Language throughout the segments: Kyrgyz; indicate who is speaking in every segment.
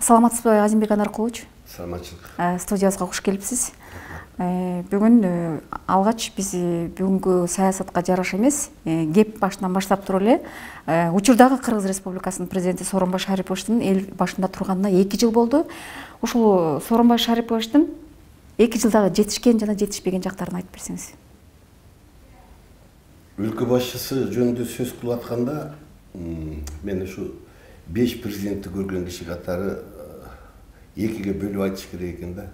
Speaker 1: Саламатсызбы, Азимбек Анаркулович?
Speaker 2: Саламатчылык.
Speaker 1: Студиябызга кош келипсиз. Бүгүн алгач биз бүгүнкү саясатка жараша эмес, кеп башынан баштап туруп эле учурдагы Кыргыз Республикасынын президенти Сооронбай Шариповичтин эл башында турганына 2 жыл болду. Ушул Сооронбай Шариповичтин 2 жылдагы жетишкен жана жетишпеген жактарын айтып берсеңиз.
Speaker 2: Өлкө башчысы жөнүндө сөз кылып атканда, мен ушу 5 президентти көргөн киши катары 2ге бөлүп айтыш керек экен да.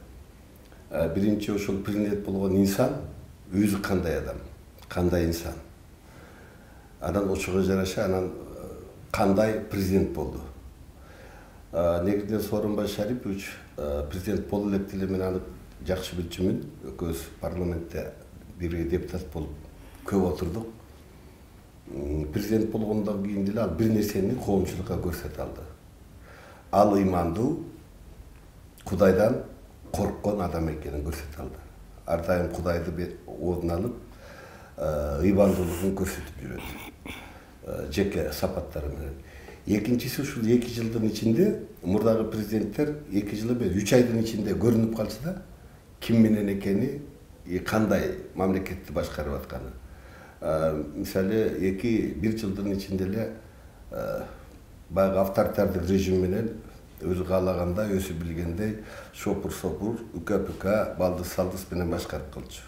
Speaker 2: Биринчи ошол президент болгон инсан өзү кандай адам, кандай инсан. Анан ошого жараша анан кандай президент болду. Негизинен Сооронбай Шарипович президент боло электи эле, мен аны жакшы билчүмүн. Экөөбүз парламентте бирге депутат болуп көп отурдук. Президент болгондон кийин деле ал бир нерсени коомчулукка көрсөтө алды. Ал ыймандуу, Кудайдан корккон адам экенин көрсөтө алды. Ар дайым Кудайды оозуна алып, ыймандуулугун көрсөтүп жүрөт. Жеке сапаттары менен. Экинчиси, ушул 2 жылдын ичинде мурдагы президенттер 2 жыл эмес 3 айдын ичинде көрүнүп калчу да, ким менен экени, кандай мамлекетти башкарып атканы. Мисалы 1 жылдын ичинде эле баягы авторитардык режим менен өзү каалагандай, өзү билгендей шопур-сопур, үкө-пүкө, балдыз-салдыз менен башкарып калчу.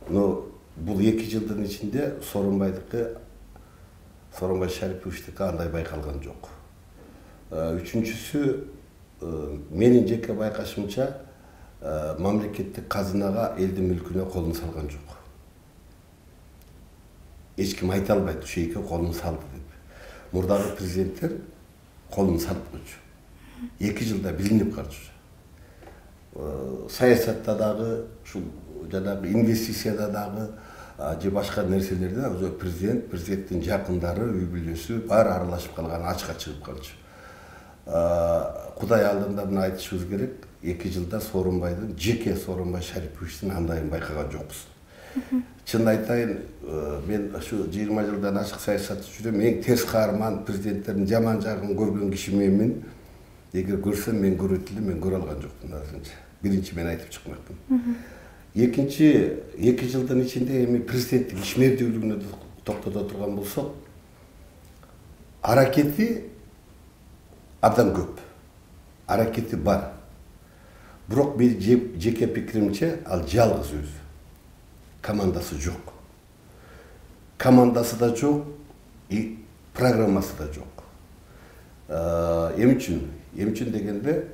Speaker 2: Но бул 2 жылдын ичинде Сооронбай Шариповичтики андай байкалган жок. Үчүнчүсү, менин жеке байкашымча, мамлекеттик казынага, элдин мүлкүнө колун салган жок. Эч ким айта албайт ушул эки колун салды деп. Мурдагы президенттер колун салып койчу. 2 жылда билинип калчу. Саясатта дагы, ушул жанагы инвестицияда дагы, же башка нерселерде өзү президенттин жакындары, үй бүлөсү баары аралашып калган, ачка чыгып калчу. Кудай алдында мына айтышыбыз керек, 2 жылда Сооронбайдын, жеке Сооронбай Шариповичтин андайын байкаган жокпуз. Чын айтайын, мен ушу 20 жылдан ашык саясатты жүрөм, эң терс каарман президенттердин жаман жагын көргөн киши менмин. Эгер көрсөм, мен көрөт элем, мен көрө алган жокмун азырынча. Биринчи мен айтып чыкмакмын. Экинчи, 2 жылдын ичинде эми президенттик ишмердүүлүгүнө токтото турган болсок, аракети абдан көп. Аракети бар. Бирок мен жеке пикиримче, ал жалгыз өзү. Командасы жок. Командасы да жок, и программасы да жок. Эмне үчүн дегенде,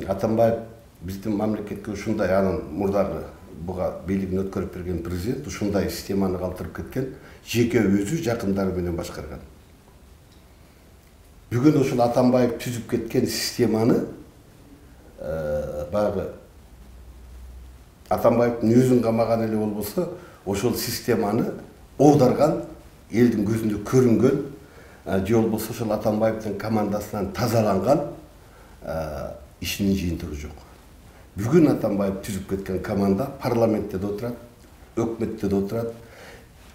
Speaker 2: Атамбаев биздин мамлекетке ушундай, анын мурдагы буга бийлигин өткөрүп берген президент ушундай системаны калтырып кеткен, жеке өзү жакындары менен башкарган. Бүгүн ушул Атамбаев түзүп кеткен системаны баягы Атамбаевдин өзүн камаган эле болбосо, ошол системаны оодарган, элдин көзүндө көрүнгөн, же болбосо ошол Атамбаевдин командасынан тазаланган ишинин жыйынтыгы жок. Бүгүн Атамбаев түзүп кеткен команда парламентте да отурат, өкмөттө да отурат,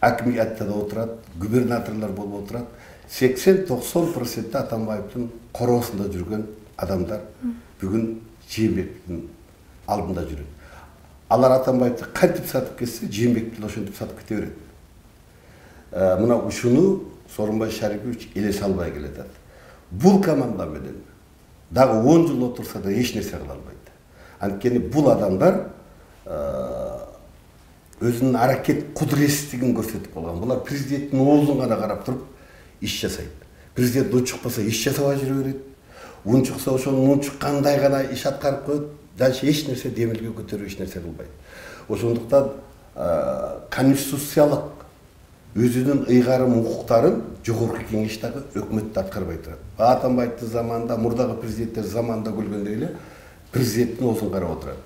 Speaker 2: акимиятта да отурат, губернаторлор болуп отурат. 80-90% Атамбаевдин короосунда жүргөн адамдар бүгүн Жээнбектин алдында жүрөт. Алар Атамбаевди кантип сатып кетсе, Жээнбек деле ошентип сатып кете берет. Мына ушуну Сооронбай Шарипович элесе албай келатат. Бул команда менен дагы 10 жыл отурса да эч нерсе кыла албайт. Анткени бул адамдар өзүнүн аракет кудуретсиздигин көрсөтүп калган. Булар президенттин оозун гана карап туруп иш жасайт. Президент унчукпаса иш жасабай жүрө берет. Унчукса ошонун унчуккандай гана иш аткарып коет. Дальше эч нерсе демилге көтөрүп эч нерсе кылбайт. Ошондуктан конституциялык өзүнүн ыйгарым укуктарын жогорку кеңеш дагы өкмөттө аткарбай турат. Атамбаевдин заманында, мурдагы президенттер заманында көргөндөй эле президенттин оозун карап отурат.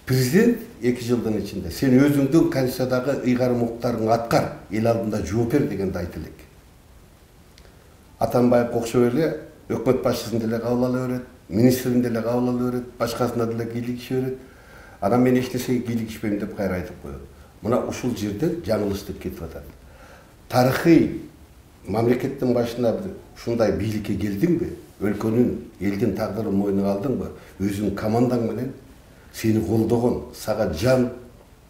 Speaker 2: Президент 2 жылдын ичинде сен өзүңдүн конституциядагы ыйгарым укуктарыңды аткар, эл алдында жооп бер дегенди айта элек. Атамбаев окшоп эле өкмөт башчысын деле кабыл ала берет, министрин деле кабыл ала берет, башкасына деле кийлигише берет. Анан мен эч нерсеге кийлигишпейм деп кайра айтып коет. Мына ушул жерден жаңылыштык кетип атат. Тарыхый мамлекеттин башына ушундай бийликке келдиңби? өлкөнүн элдин тагдырын мойнуна алдыңбы, өзүңүн командаң менен сени колдогон, сага жан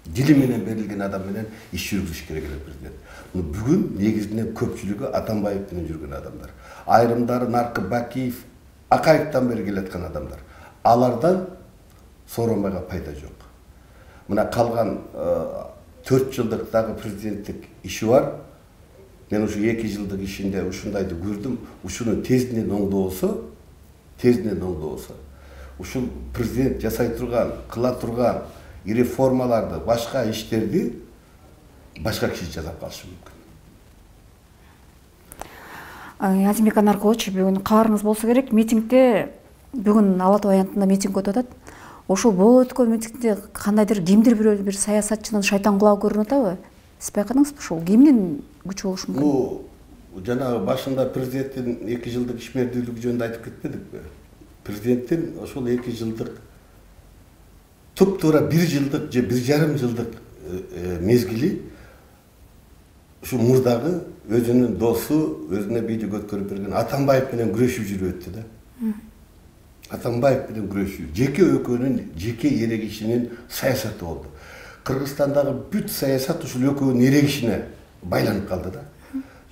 Speaker 2: дили менен берилген адам менен иш жүргүзүш керек эле президент. Бүгүн негизинен көпчүлүгү Атамбаев менен жүргөн адамдар. Айрымдары Наркы Бакиев, Акаевден бери келаткан адамдар. Алардан Сооронбайга пайда жок. Мына калган 4 жылдык дагы президенттик иши бар. Мен ушу 2 жылдык ишинде ушундайды көрдүм. Ушуну тездинен оңдобосо, ушул президент жасай турган, кыла турган реформаларды, башка иштерди башка киши жасап калышы мүмкүн.
Speaker 1: Азимбек Анаркулович, бүгүн кабарыңыз болсо керек, митингде бүгүн Ала Тоо аянтында митинг өтүп атат. Ошол болуп өткөн митингде кандайдыр кимдир бир саясатчынын шайтан кулагы көрүнүп атабы? Сиз байкадыңызбы ушул? Кимдин күчү болушу мүмкүн?
Speaker 2: Бул жанагы башында президенттин 2 жылдык ишмердүүлүгү жөнүндө айтып кетпедикпи? Президенттин ошол 2 жылдык туп-туура 1 жылдык же 1,5 жылдык мезгили ушу мурдагы өзүнүн досу, өзүнө бийлик өткөрүп берген Атамбаев менен күрөшүп жүрүп өттү да. Атамбаев менен күрөшүү, жеке экөөнүн жеке эрегишинин саясаты болду. Кыргызстандагы бүт саясат ушул экөөнүн эрегишине байланып калды да.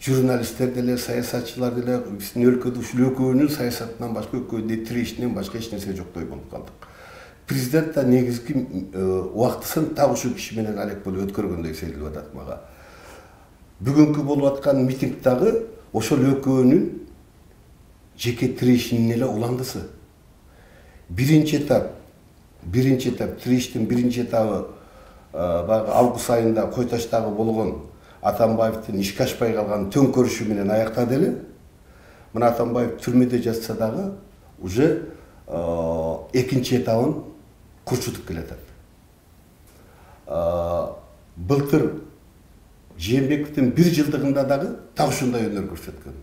Speaker 2: Журналисттер деле, саясатчылар деле биздин өлкөдө ушул экөөнүн саясатынан башка, экөөнүн тирешинен башка эч нерсе жоктой болуп калдык. Президент да негизги убактысын так ушул киши менен алек болуп өткөргөндөй сезилип атат мага. Бүгүнкү болуп аткан митингдагы ошол экөөнүн жеке тирешинин эле уландысы. Биринчи этап тирештин биринчи этабы баягы август айында Кой Таштагы болгон Атамбаевдин ишке ашпай калган төңкөрүшү менен аяктады эле. Мына Атамбаев түрмөдө жатса дагы уже экинчи этабын курчутуп келатат. Былтыр Жээнбековдун 1 жылдыгында дагы так ушундай өнөр көрсөткөн.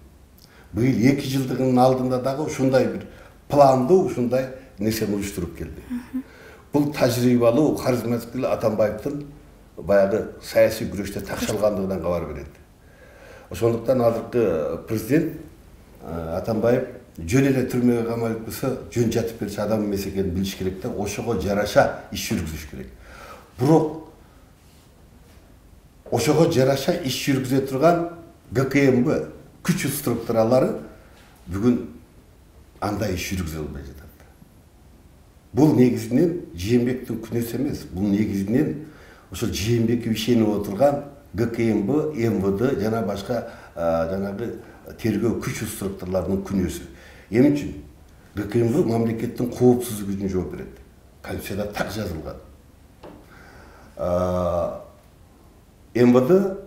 Speaker 2: Быйыл 2 жылдыгынын алдында дагы ушундай бир пландуу ушундай нерсени уюштуруп келди. Бул тажрыйбалуу, харизматик Атамбаевдин баягы саясий күрөштө такшалгандыгынан кабар берет. Ошондуктан азыркы президент Атамбаев жөн эле түрмөгө камалып койсо, жөн жатып берчи адам эмес экенин билиш керек да, ошого жараша иш жүргүзүш керек. Бирок ошого жараша иш жүргүзө турган ГКМБ күч структуралары бүгүн андай иш жүргүзө албай жатат. Бул негизинен Жээнбековдун күнөөсү эмес, бул негизинен ошол Жээнбеков ишенип отурган ГКМБ, МВД жана башка жанагы тергөө күч структураларынын күнөөсү. Эмне үчүн? ГКМБ мамлекеттин коопсуздугу үчүн жооп берет. Конституцияда так жазылган. МВД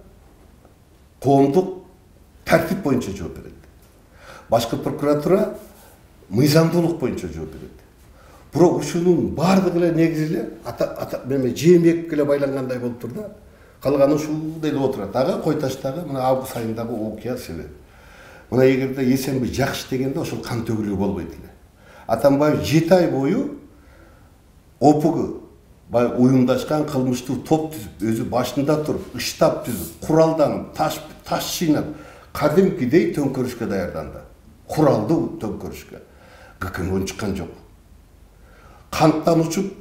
Speaker 2: коомдук тартип боюнча жооп берет. Башкы прокуратура мыйзамдуулук боюнча жооп берет. Бирок ушунун бардыгы эле негизи эле Жээнбековго эле байлангандай болуп тур да. Калганы ушундай эле отурат. Ага Кой Таштагы мына август айындагы окуя себеп. Мына эгерде Эсенби жакшы дегенде ошол кан төгүлүү болбойт эле. Атамбаев 7 ай бою ОПГ уюмдашкан кылмыштуу топ түзүп, өзү башында туруп, ыштап түзүп, куралданып, таш жыйнап, кадимкидей төңкөрүшкө даярданды. Куралдуу төңкөрүшкө. ГКМБ чыккан жок. Канттан учуп,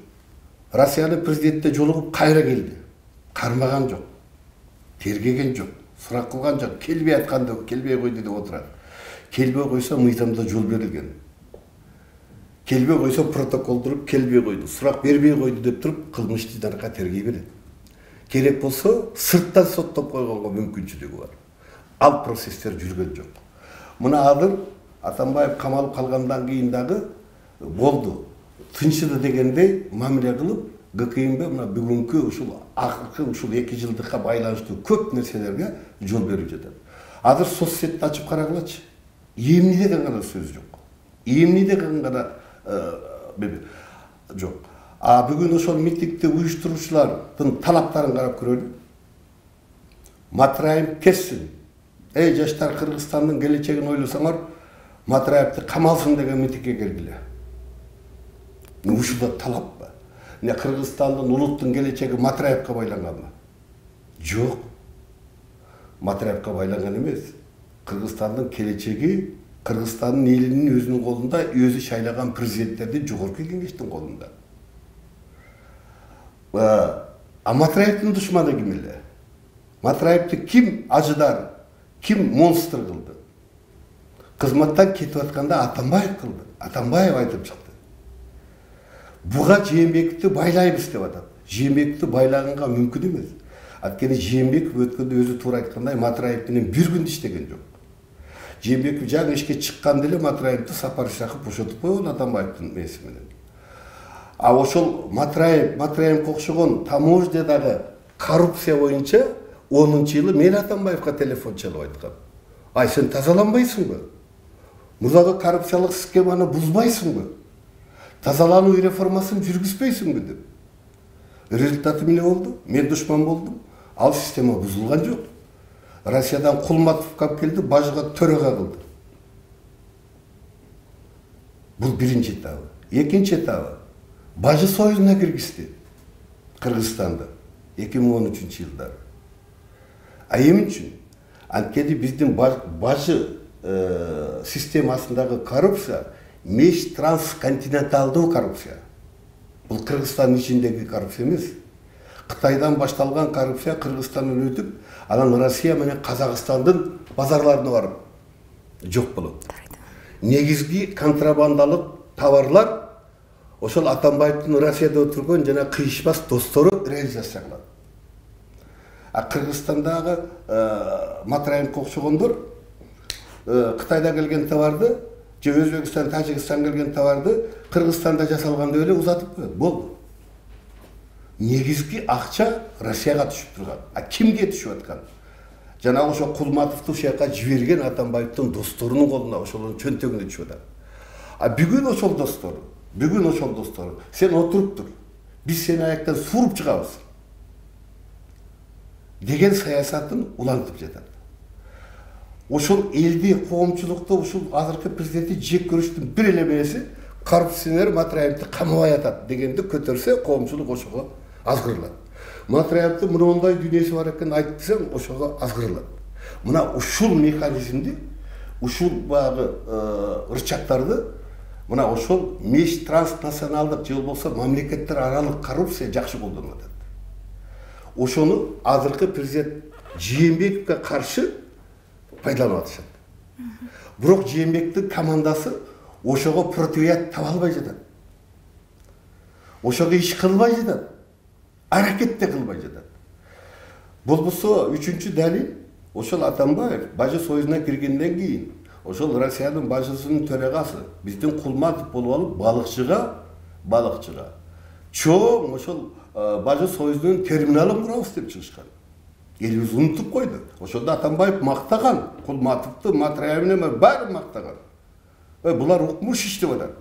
Speaker 2: Россиянын президентте жолугуп кайра келди. Кармаган жок. Тергеген жок. Сурак кылган жок. Келбей атканда келбей койду деп отурат. Келбей койсо мыйзамда жол берилген. Келбей койсо протокол туруп келбей койду. Сурак бербей койду деп туруп кылмыштуу жаракка тергей берет. Керек болсо сырттан соттоп койгонго мүмкүнчүлүгү бар. Ал процесстер жүргөн жок. Мына азыр Атамбаев камалып калгандан кийин дагы болду. Тынчыды дегендей мамиле кылып, ГКМБ мына бүгүнкү ушул акыркы ушул 2 жылдыкка байланыштуу көп нерселерге жол берип жатат. Азыр соцсетти ачып карагылачы. Эмне деген гана сөз жок. Эмне деген гана жок. Бүгүн ошол митингди уюштуруучулардын талаптарын карап көрөлү. Матраев кетсин. Эй жаштар, Кыргызстандын келечегин ойлосоңор, Матраевди камалсын деген митингге келгиле. Ушул да талаппы? Не Кыргызстандын улуттун келечеги Матраевге байланганбы? Жок. Матраевге байланган эмес. Кыргызстандын келечеги Кыргызстандын элинин өзүнүн колунда, өзү шайлаган президенттердин жогорку кеңештин колунда. Матраевдин душманы ким эле? Матраевди ким ажыдар, ким монстр кылды? Кызматтан кетип атканда Атамбаев кылды. Атамбаев айтып чыкты. Буга Жээнбековди байлайбыз деп атат. Жээнбековди байлаганга мүмкүн эмес. Анткени Жээнбеков өткөндө өзү туура айткандай Матраев менен бир күндө иштеген жок. Жээнбеков жаңы ишке чыкканда эле Матраевди Сапар Ишаков бошотуп койгон Атамбаевдин мээси менен. А ошол Матраевге окшогон таможнядагы коррупция боюнча 10-жылы мен Атамбаевга телефон чалып айткам. Ай, сен тазаланбайсыңбы? Мурдагы коррупциялык схеманы бузбайсыңбы? Тазалануу реформасын жүргүзбөйсүңбү деп. Результаты эмне болду? Мен душман болдум. Ал система бузулган жок. Россиядан Кулматов кап келди, бажыга төрага кылды. Бул биринчи этабы. Экинчи этабы. Бажы союзуна киргизди Кыргызстанды 2013-жылдары. А эмне үчүн? Анткени биздин бажы системасындагы коррупция меж трансконтиненталдуу коррупция. Бул Кыргызстандын ичиндеги коррупция эмес. Кытайдан башталган коррупция Кыргызстандан өтүп, анан Россия менен Казакстандын базарларына барып жок болот. Негизги контрабандалык товарлар ошол Атамбаевдин Россияда отургон жана кыйышпас достору реализация кылат. А Кыргызстандагы Матраевге окшогондор Кытайда келген товарды, же Өзбекстан, Тажикстан келген товарды Кыргызстанда жасалганда эле узатып коет. Болду. Негизги акча Россияга түшүп турган. А кимге түшүп аткан? Жана ошо Кулматовду ушул жака жиберген Атамбаевдин досторунун колуна, ошолордун чөнтөгүнө түшүп атат. А бүгүн ошол достору, сен отуруп тур. Биз сени аяктан сууруп чыгабыз деген саясатын улантып жатат. Ошол элди коомчулукта ушул азыркы президенти жек көрүштүн бир эле мээси коррупционер Матраевди камабай атат дегенди көтөрсө, коомчулук ошого азгырылат. Матраевди мындай дүйнөсү бар экенин айтсаң, ошого азгырылат. Мына ушул механизмди, ушул багы рычагтарды мына ошол меж транснационалдык же болбосо мамлекеттер аралык коррупция жакшы колдонуп атат. Ошону азыркы президент Жээнбековго каршы пайдаланып атышат. Бирок Жээнбековдун командасы ошого противоядие таба албай жатат. Ошого иш кылбай жатат. Аракет да кылбай жатат. Болбосо үчүнчү далил, ошол Атамбаев бажы союзуна киргенден кийин ошол Россиянын бажысынын төрагасы биздин Кулматов болуп алып балыкчыга чоң ошол бажы союзунун терминалын курабыз деп чыгышкан. Элибиз унутуп койду. Ошондо Атамбаев мактаган, Кулматовду, Матраевин баарын мактаган. Булар укмуш иштеп атат,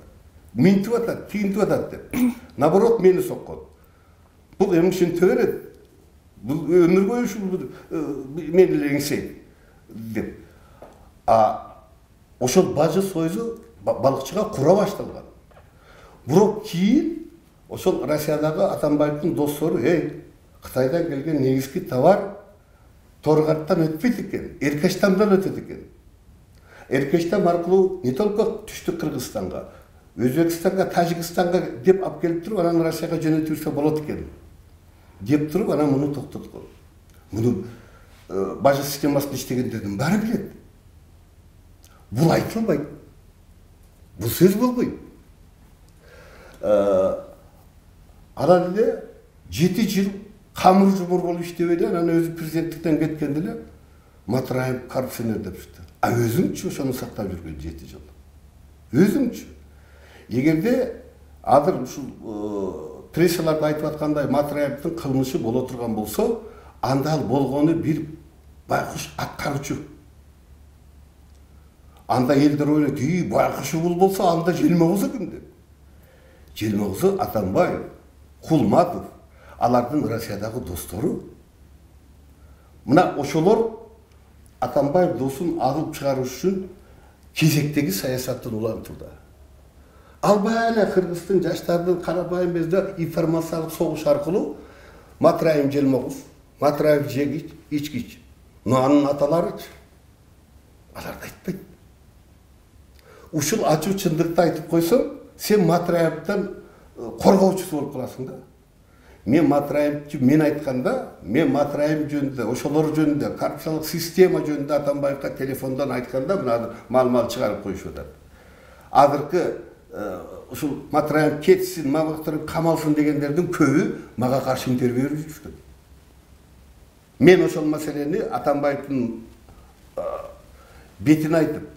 Speaker 2: минтип атат, тигинтип атат деп. Наоборот, мени соккон. Бул эми ушинте берет. Бул өмүр бою ушул мен эле эңсейт деп. Ошол бажы союзу балыкчыга кура башталган. Бирок кийин ошол Россиядагы Атамбаевдин достору, Кытайдан келген негизги товар Торгаттан өтпөйт экен, Эркештамдан өтөт экен. Эркештам аркылуу не только түштүк Кыргызстанга, Өзбекстанга, Тажикстанга деп алып келип туруп, анан Россияга жөнөтүлсө болот экен. Деп туруп, анан муну токтоткон. Муну бажы системасында иштегендердин баары билет. Бул айтылбайт. Бул сөз болбойт. Анан эле 7 жыл камыр жумур болуп иштеп эле, анан өзү президенттиктен кеткенде эле Матраев коррупционер деп чыкты. А өзүңчү ошону сактап жүргөн 7 жыл. Өзүңчү. Эгерде азыр ушул прессаларда айтып аткандай Матраевдин кылмышы боло турган болсо, анда ал болгону бир байкуш аткаруучу. Анда элдер ойлойт, байкушу бул болсо, анда желмогузу ким деп. Желмогузу Атамбаев, Кулматов, алардын Россиядагы достору. Мына ошолор Атамбаев досун алып чыгарыш үчүн кезектеги саясаттын улантууда. Албай эле Кыргыздын жаштардын карабайым безде информациялык согуш аркылуу Матраев желмогуз, Матраев жегич, ичкич. Но анын аталарычы аларды айтпайт. ушул ачуу чындыкты айтып койсоң, сен Матраевден коргоочусу болуп каласың да. Мен Матраевди мен айтканда, мен Матраев жөнүндө, ошолор жөнүндө, коррупциялык система жөнүндө Атамбаевга телефондон айтканда, мына мал чыгарып коюшуп атат. Азыркы ушул Матраев кетсин, Мамыков камалсын дегендердин көбү мага каршы интервью берип жүрүшкөн. Мен ошол маселени Атамбаевдин бетине айтып,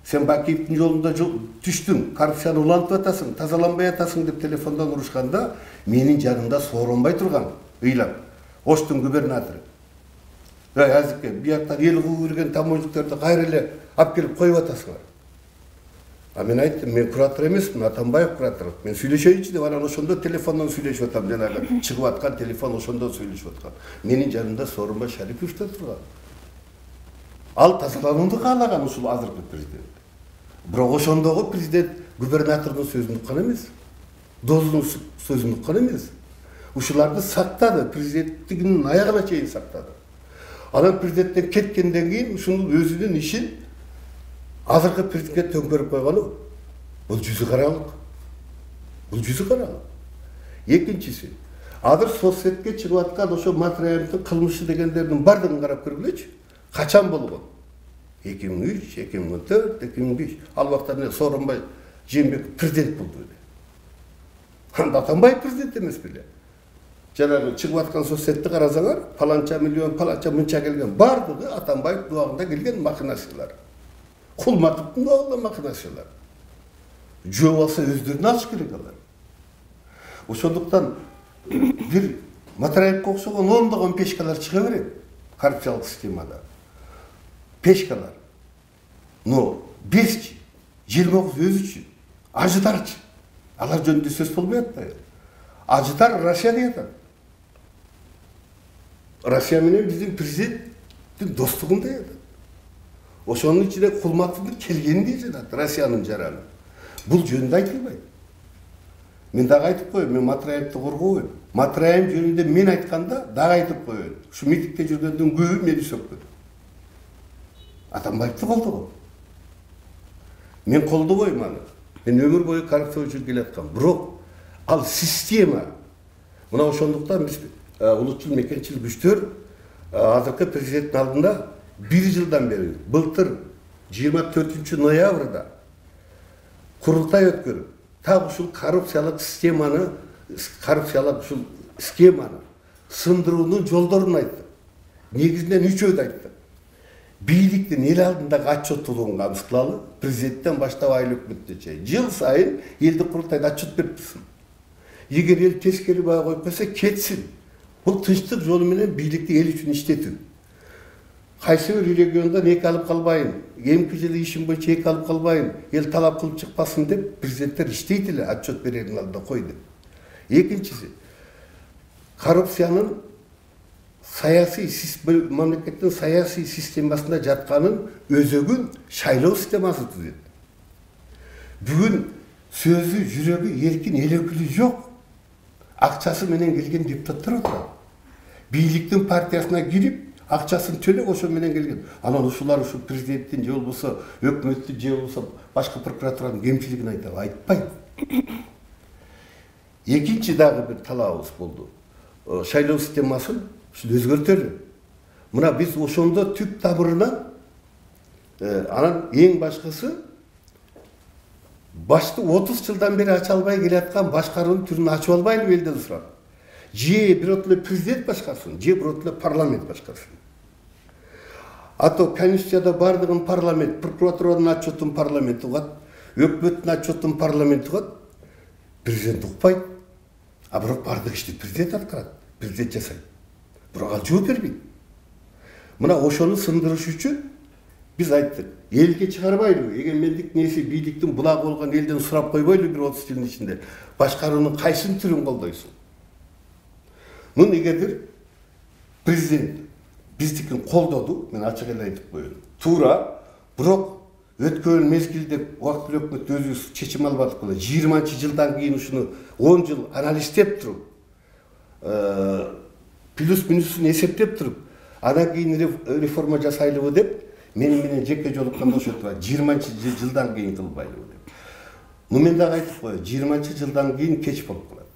Speaker 2: сен Бакиевдин жолунда түштүң, коррупцияны улантып атасың, тазаланбай атасың деп телефондон урушканда, менин жанымда сооронбай турган, ыйлап, Оштун губернатору. Азыркы бияктан эл кууп берген таможниктөрдү кайра эле алып келип коюп атасыңар. А мен айттым, мен куратор эмесмин, Атамбаев куратор. Мен сүйлөшөйүнчү деп анан ошондо телефондон сүйлөшүп атам, жанагы чыгып аткан телефон ошондо сүйлөшүп аткан. Менин жанымда Сооронбай Шарипов да турган. Ал тазаланууну каалаган ушул азыркы президент. Бирок ошондогу президент губернатордун сөзүн уккан эмес. Доздун сөзүн уккан эмес. Ушуларды сактады, президенттигинин аягына чейин сактады. Анан президенттен кеткенден кийин ушунун өзүнүн ишин азыркы президентке төңкөрүп койгону бул жүзү каралык. Бул жүзү каралык. Экинчиси, азыр соцсетке чыгып аткан ошо Матраевдин кылмышы дегендердин бардыгын карап көргүлөчү. Качан болгон? 2003, 2004, 2005. Ал убакта Сооронбай Жээнбеков президент болду эле. Анда Атамбаев президент эмес беле. Жанагы чыгып аткан соцсетти карасаңар, паланча миллион, паланча мынча келген, бардыгы Атамбаев убагында келген махинациялар. Кулматовдун убагында махинациялар. Жөө болсо өздөрүнө алыш керек алар. Ошондуктан бир Матраевге окшогон ондогон пешкалар чыга берет коррупциялык системада. Пешкалар. Но 5, 29 өзү үчүн, ажыдарчы. Алар жөнүндө сөз болбой атпайбы? Ажыдар Россия деп атат. Россия менен биздин президенттин достугун деп атат. Ошонун ичине Кулматовдун келгенин деп жатат, Россиянын жараны. Бул жөнүндө айтылбайт. Мен дагы айтып коеюн, мен Матраевди коргобойм. Матраев жөнүндө мен айтканда дагы айтып коеюн. Ушу митингде жүргөндүн көбү мени сөккөн. Атамбаевди колдогом. Мен колдобойм аны. Мен өмүр бою коррупция үчүн келаткам. Бирок ал система. Мына ошондуктан биз улутчул мекенчил күчтөр азыркы президенттин алдында 1 жылдан бери, былтыр 24 ноябрда курултай өткөрүп, так ушул коррупциялык системаны, коррупциялык ушул схеманы сындыруунун жолдорун айттык. Негизинен 3 айттык. Бийликтин эл алдындагы отчеттуулугун камсыздалалы, президенттен баштап айыл өкмөткө чейин жыл сайын элди курултайда отчет берип турсун. Эгер эл тескери баа коюп койсо кетсин. Бул тынчтык жолу менен бийликти эл үчүн иштетүү. Кайсы бир региондон эки алып калбайын, эмки жылы ишим боюнча эки алып калбайын, эл талап кылып чыкпасын деп президенттер иштейт эле, отчет берердин алдында койду. Экинчиси, коррупциянын саясий мамлекеттин саясий системасында жатканын өзөгүн шайлоо системасы түзөт. Бүгүн сөзү, жүрөгү эркин, эл өкүлү жок. Акчасы менен келген депутаттар отурат. Бийликтин партиясына кирип, акчасын төлөп ошо менен келген. Анан ушулар ушу президенттин же болбосо өкмөттүн же болбосо башка прокуратуранын кемчилигин айтабы? Айтпайт. Экинчи дагы бир талабыбыз болду. Шайлоо системасын өзгөртөлү. Мына биз ошондо түп тамырынан анан эң башкысы башты 30 жылдан бери ача албай келаткан башкаруунун түрүн ачып албайлыбы элден сурап. Же бирок эле президент башкарсын, же бирок эле парламент башкарсын. А то Конституцияда бардыгын парламент, прокуратуранын отчетун парламент угат, өкмөттүн отчетун парламент угат, президент укпайт. А бирок бардык ишти президент аткарат, президент жасайт. Бирок ал жооп бербейт. Мына ошону сындырыш үчүн биз айттык, элге чыгарбайлыбы, эгемендик неси бийликтин булагы болгон элден сурап койбойлу бир 30 жылдын ичинде башкаруунун кайсын түрүн колдойсуң? Муну эгердир президент биздикин колдоду, мен ачык эле айтып коеюн. Туура, бирок өткөн мезгилде убактылуу өкмөт өзү чечим албадык беле. 20-жылдан кийин ушуну 10 жыл анализдеп туруп, плюс минусун эсептеп туруп, андан кийин реформа жасайлыбы деп менен жеке жолукканда ошентип айтты, 20-жылдан кийин кылбайлы деп. Мен дагы айтып коеюн, 20-жылдан кийин кеч болуп калат.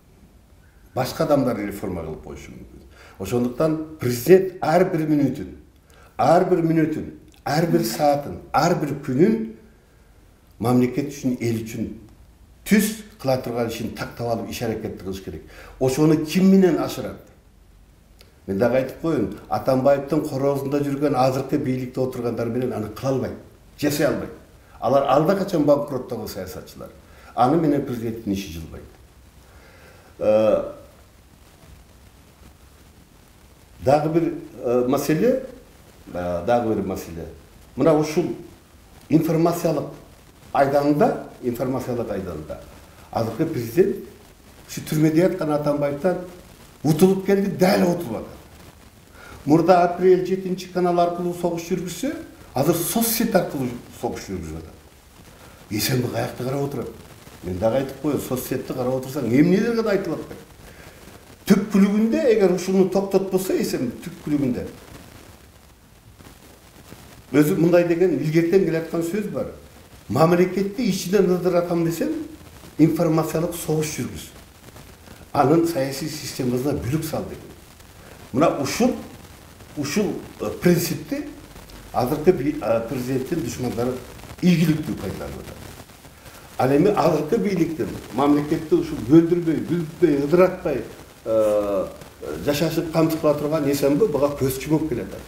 Speaker 2: Башка адамдар реформа кылып коюшу мүмкүн. Ошондуктан президент ар бир мүнөтүн, ар бир саатын, ар бир күнүн мамлекет үчүн, эл үчүн түз кыла турган ишин тактап алып иш аракетти кылыш керек. Ошону ким менен ашырат? Мен дагы айтып коеюн, Атамбаевдин короозунда жүргөн азыркы бийликте отургандар менен аны кыла албайт, жасай албайт. Алар алда качан банкроттогон саясатчылар. Аны менен президенттин иши жылбайт. Дагы бир маселе. Мына ушул информациялык айданда азыркы президент ушу түрмөдө яткан Атамбаевден утулуп келди, дәл утулуп атат. Мурда апрель 7 канал аркылуу согуш жүргүзсө, азыр соцсет аркылуу согуш жүргүзүп атат. Эсенби каякта карап отурат? Мен дагы айтып коеюн, соцсетти карап отурсаң, эмнелерге да айтылып атпайт. Түпкүлүгүндө эгер ушуну токтотпосо, эсенби түпкүлүгүндө өзү мындай деген илгертен келаткан сөз бар. Мамлекетти ичинен ыдыратам десем, информациялык согуш жүргүз. Анын саясий системасына бүлүк сал деген. Мына ушул принципти азыркы президенттин душмандары ийгиликтүү пайдаланып атат. Ал эми азыркы бийликтин мамлекетти ушул бөлдүрбөй, бүлүкпөй, ыдыратпай жашашып камсыз кыла турган эсенби буга көз чумуп келатат.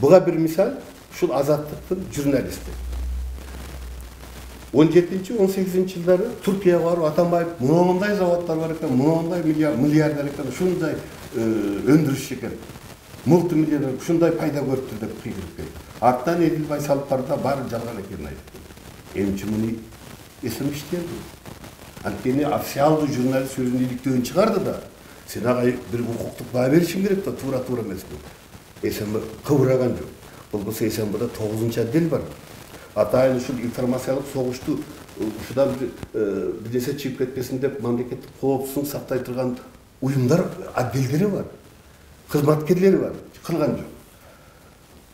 Speaker 2: Буга бир мисал ушул Азаттыктын журналисти. 17-18 жылдары Түркияга барып, Атамбаев мындай заводдор бар экен, мындай миллиардер экен, ушундай өндүрүш экен, мультимиллионер ушундай пайда көрүптүр деп кыйгырып келди. Артынан Эдилбай салып барды, баары жалган экенин айтты. Эмчи муну эсемиштенди. Анткени официалдуу журналист өзүнүн иликтөөнүн чыгарды да, сен ага бир укуктук баа беришиң керек да, туура эмеспи. Эсенби кыбыраган жок. Болбосо эсенбиде 9 отдел бар. Атайын ушул информациялык согушту ушудан бир нерсе чыгып кетпесин деп мамлекеттик коопсуздук сактай турган уюмдар, отделдери бар, кызматкерлери бар, кылган жок.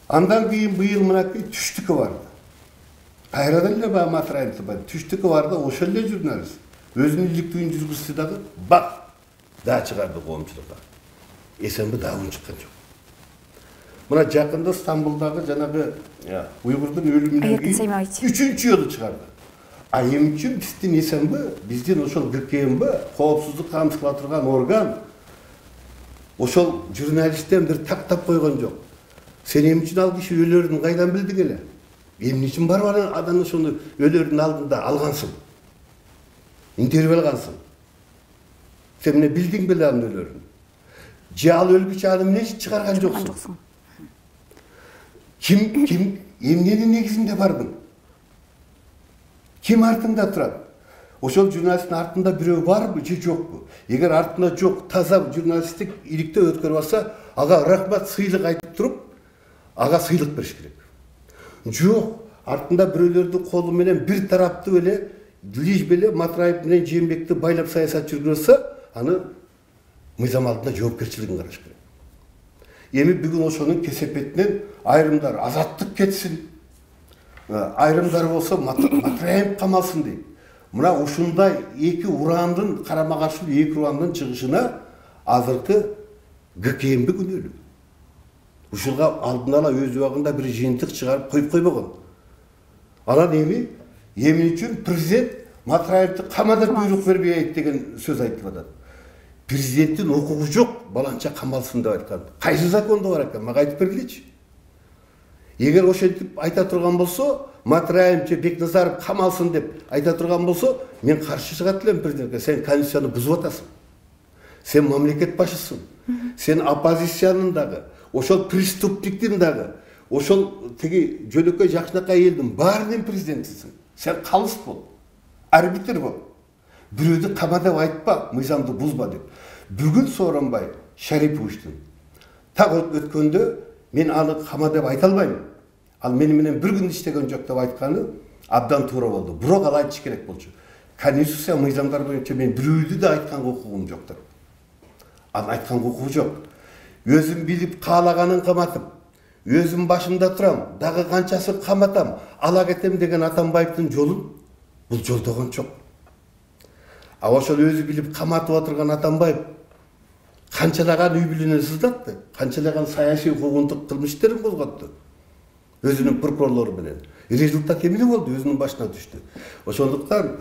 Speaker 2: Андан кийин быйыл мынакей түштүккө барды. Кайрадан эле баягы Матраевди бар. Түштүккө барды, ошол эле журналист. Өзүнүн иликтүүнү жүргүзсө дагы бак да чыгарды коомчулукка. Эсенби дагы чыккан жок. Мына жакында Стамбулдагы жанагы уйгурдун өлүмүнөн кийин 3-чү жолу чыгарды. А эмне үчүн биздин эсенби, биздин ошол ГКМБ, коопсуздук камсыз кыла турган орган ошол журналисттен бир тактап койгон жок. Сен эмне үчүн ал киши өлөрүн кайдан билдиң эле? Эмне үчүн барып анан ошону өлөрүнүн алдында алгансың? Интервью алгансың? Сен эмне билдиң беле анын өлөрүн? Же ал өлгүчө аны эмне үчүн чыгарган жоксуң? Ким эмненин негизинде бардың? Ким артында турат? Ошол журналисттин артында бирөө барбы же жокпу? Эгер артында жок, таза журналисттик иликтөө өткөрүп алса, ага рахмат, сыйлык айтып туруп, ага сыйлык бериш керек. Жок, артында бирөөлөрдүн колу менен бир тараптуу эле лиш беле Матраев менен Жээнбекти байлап саясат жүргүзсө, аны мыйзам алдында жоопкерчилигин караш керек. Эми бүгүн ошонун кесепетинен айрымдар Азаттык кетсин, айрымдар болсо Матраев камалсын дейт. Мына ушундай эки урандын карама-каршы эки урандын чыгышына азыркы ГКМБ күнөөлүү. Ушуга алдын ала өз убагында бир жыйынтык чыгарып коюп койбогон. Анан эмне үчүн президент Матраевди камадап буйрук бербейт деген сөз айтылып атат. Президенттин укугу жок, баланча камалсын деп айткан. Кайсы закондо бар экен? Мага айтып бергилечи. Эгер ошентип айта турган болсо, Матраев же Бекназаров камалсын деп айта турган болсо, мен каршы чыгат элем президентке. Сен конституцияны бузуп атасың. Сен мамлекет башысың. Сен оппозициянын дагы, ошол преступниктин дагы, ошол теги жөнөкөй жакшынакай элдин баарынын президентисиң. Сен калыс бол, арбитр бол. Бирөөдү кама деп айтпа, мыйзамды бузба деп. Бүгүн Сооронбай Шариповичтин так өткөндө мен аны кама деп айта албайм. Ал мени менен бир күн иштеген жок деп айтканы абдан туура болду. Бирок ал айтыш керек болчу. Конституция мыйзамдар боюнча мен бирөөдү да айткан укугум жок деп. Ал айткан укугу жок. Өзүн билип каалаганын каматып, өзүм башымда турам, дагы канчасын каматам, ала кетем деген Атамбаевдин жолун бул жолдогон жок. А ошол өзү билип каматып отурган Атамбаев канчалаган үй бүлөнү сыздатты, канчалаган саясий куугунтук кылмыш иштерин козготту өзүнүн прокурорлору менен. Результат эмне болду? Өзүнүн башына түштү. Ошондуктан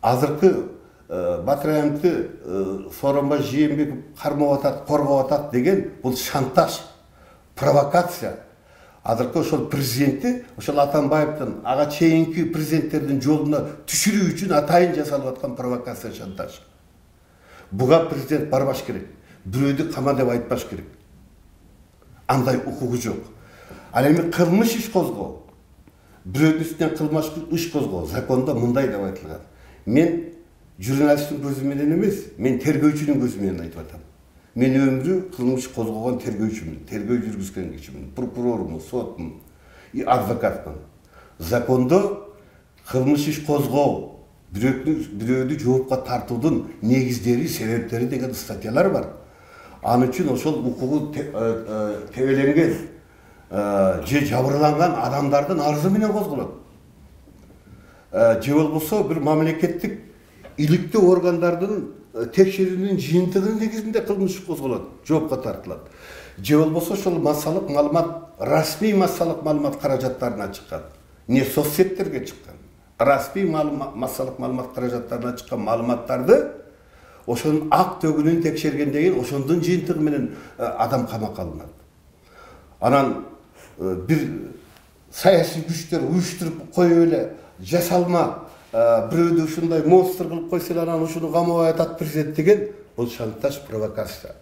Speaker 2: азыркы Батыраевди Сооронбай Жээнбеков кармап атат, коргоп атат деген бул шантаж, провокация. Азыркы ошол президентти, ошол Атамбаевдин ага чейинки президенттердин жолуна түшүрүү үчүн атайын жасалып аткан провокация, шантаж. Буга президент барбаш керек. Бирөөдү кама деп айтпаш керек. Андай укугу жок. Ал эми кылмыш иш козгоо, бирөөдүн үстүнөн кылмыш иш козгоо закондо мындай деп айтылган. Мен журналисттин көзү менен эмес, мен тергөөчүнүн көзү менен айтып атам. Мен өмүрү кылмыш козгогон тергөөчүмүн, тергөө жүргүзгөн кишимин, прокурормун, сотмун, адвокатмын. Закондо кылмыш иш козгоо, бирөөдү жоопко тартуудун негиздери, себептери деген статьялар бар. Ал үчүн ошол укугу тебеленген же жабырланган адамдардын арызы менен козголот. Же болбосо бир мамлекеттик иликтүү органдардын текшерүүнүн жыйынтыгынын негизинде кылмыш козголот, жоопко тартылат. Же болбосо ошол массалык маалымат, расмий массалык маалымат каражаттарына чыккан, не соцсеттерге чыккан. Расмий массалык маалымат каражаттарына чыккан маалыматтарды ошонун ак төгүнүн текшергенден кийин ошондун жыйынтыгы менен адам камакка алынат. Анан бир саясий күчтөр уюштуруп коюп эле жасалма бирөөдү ушундай монстр кылып койсо эле анан ушуну камабай атат президент деген бул шантаж, провокация.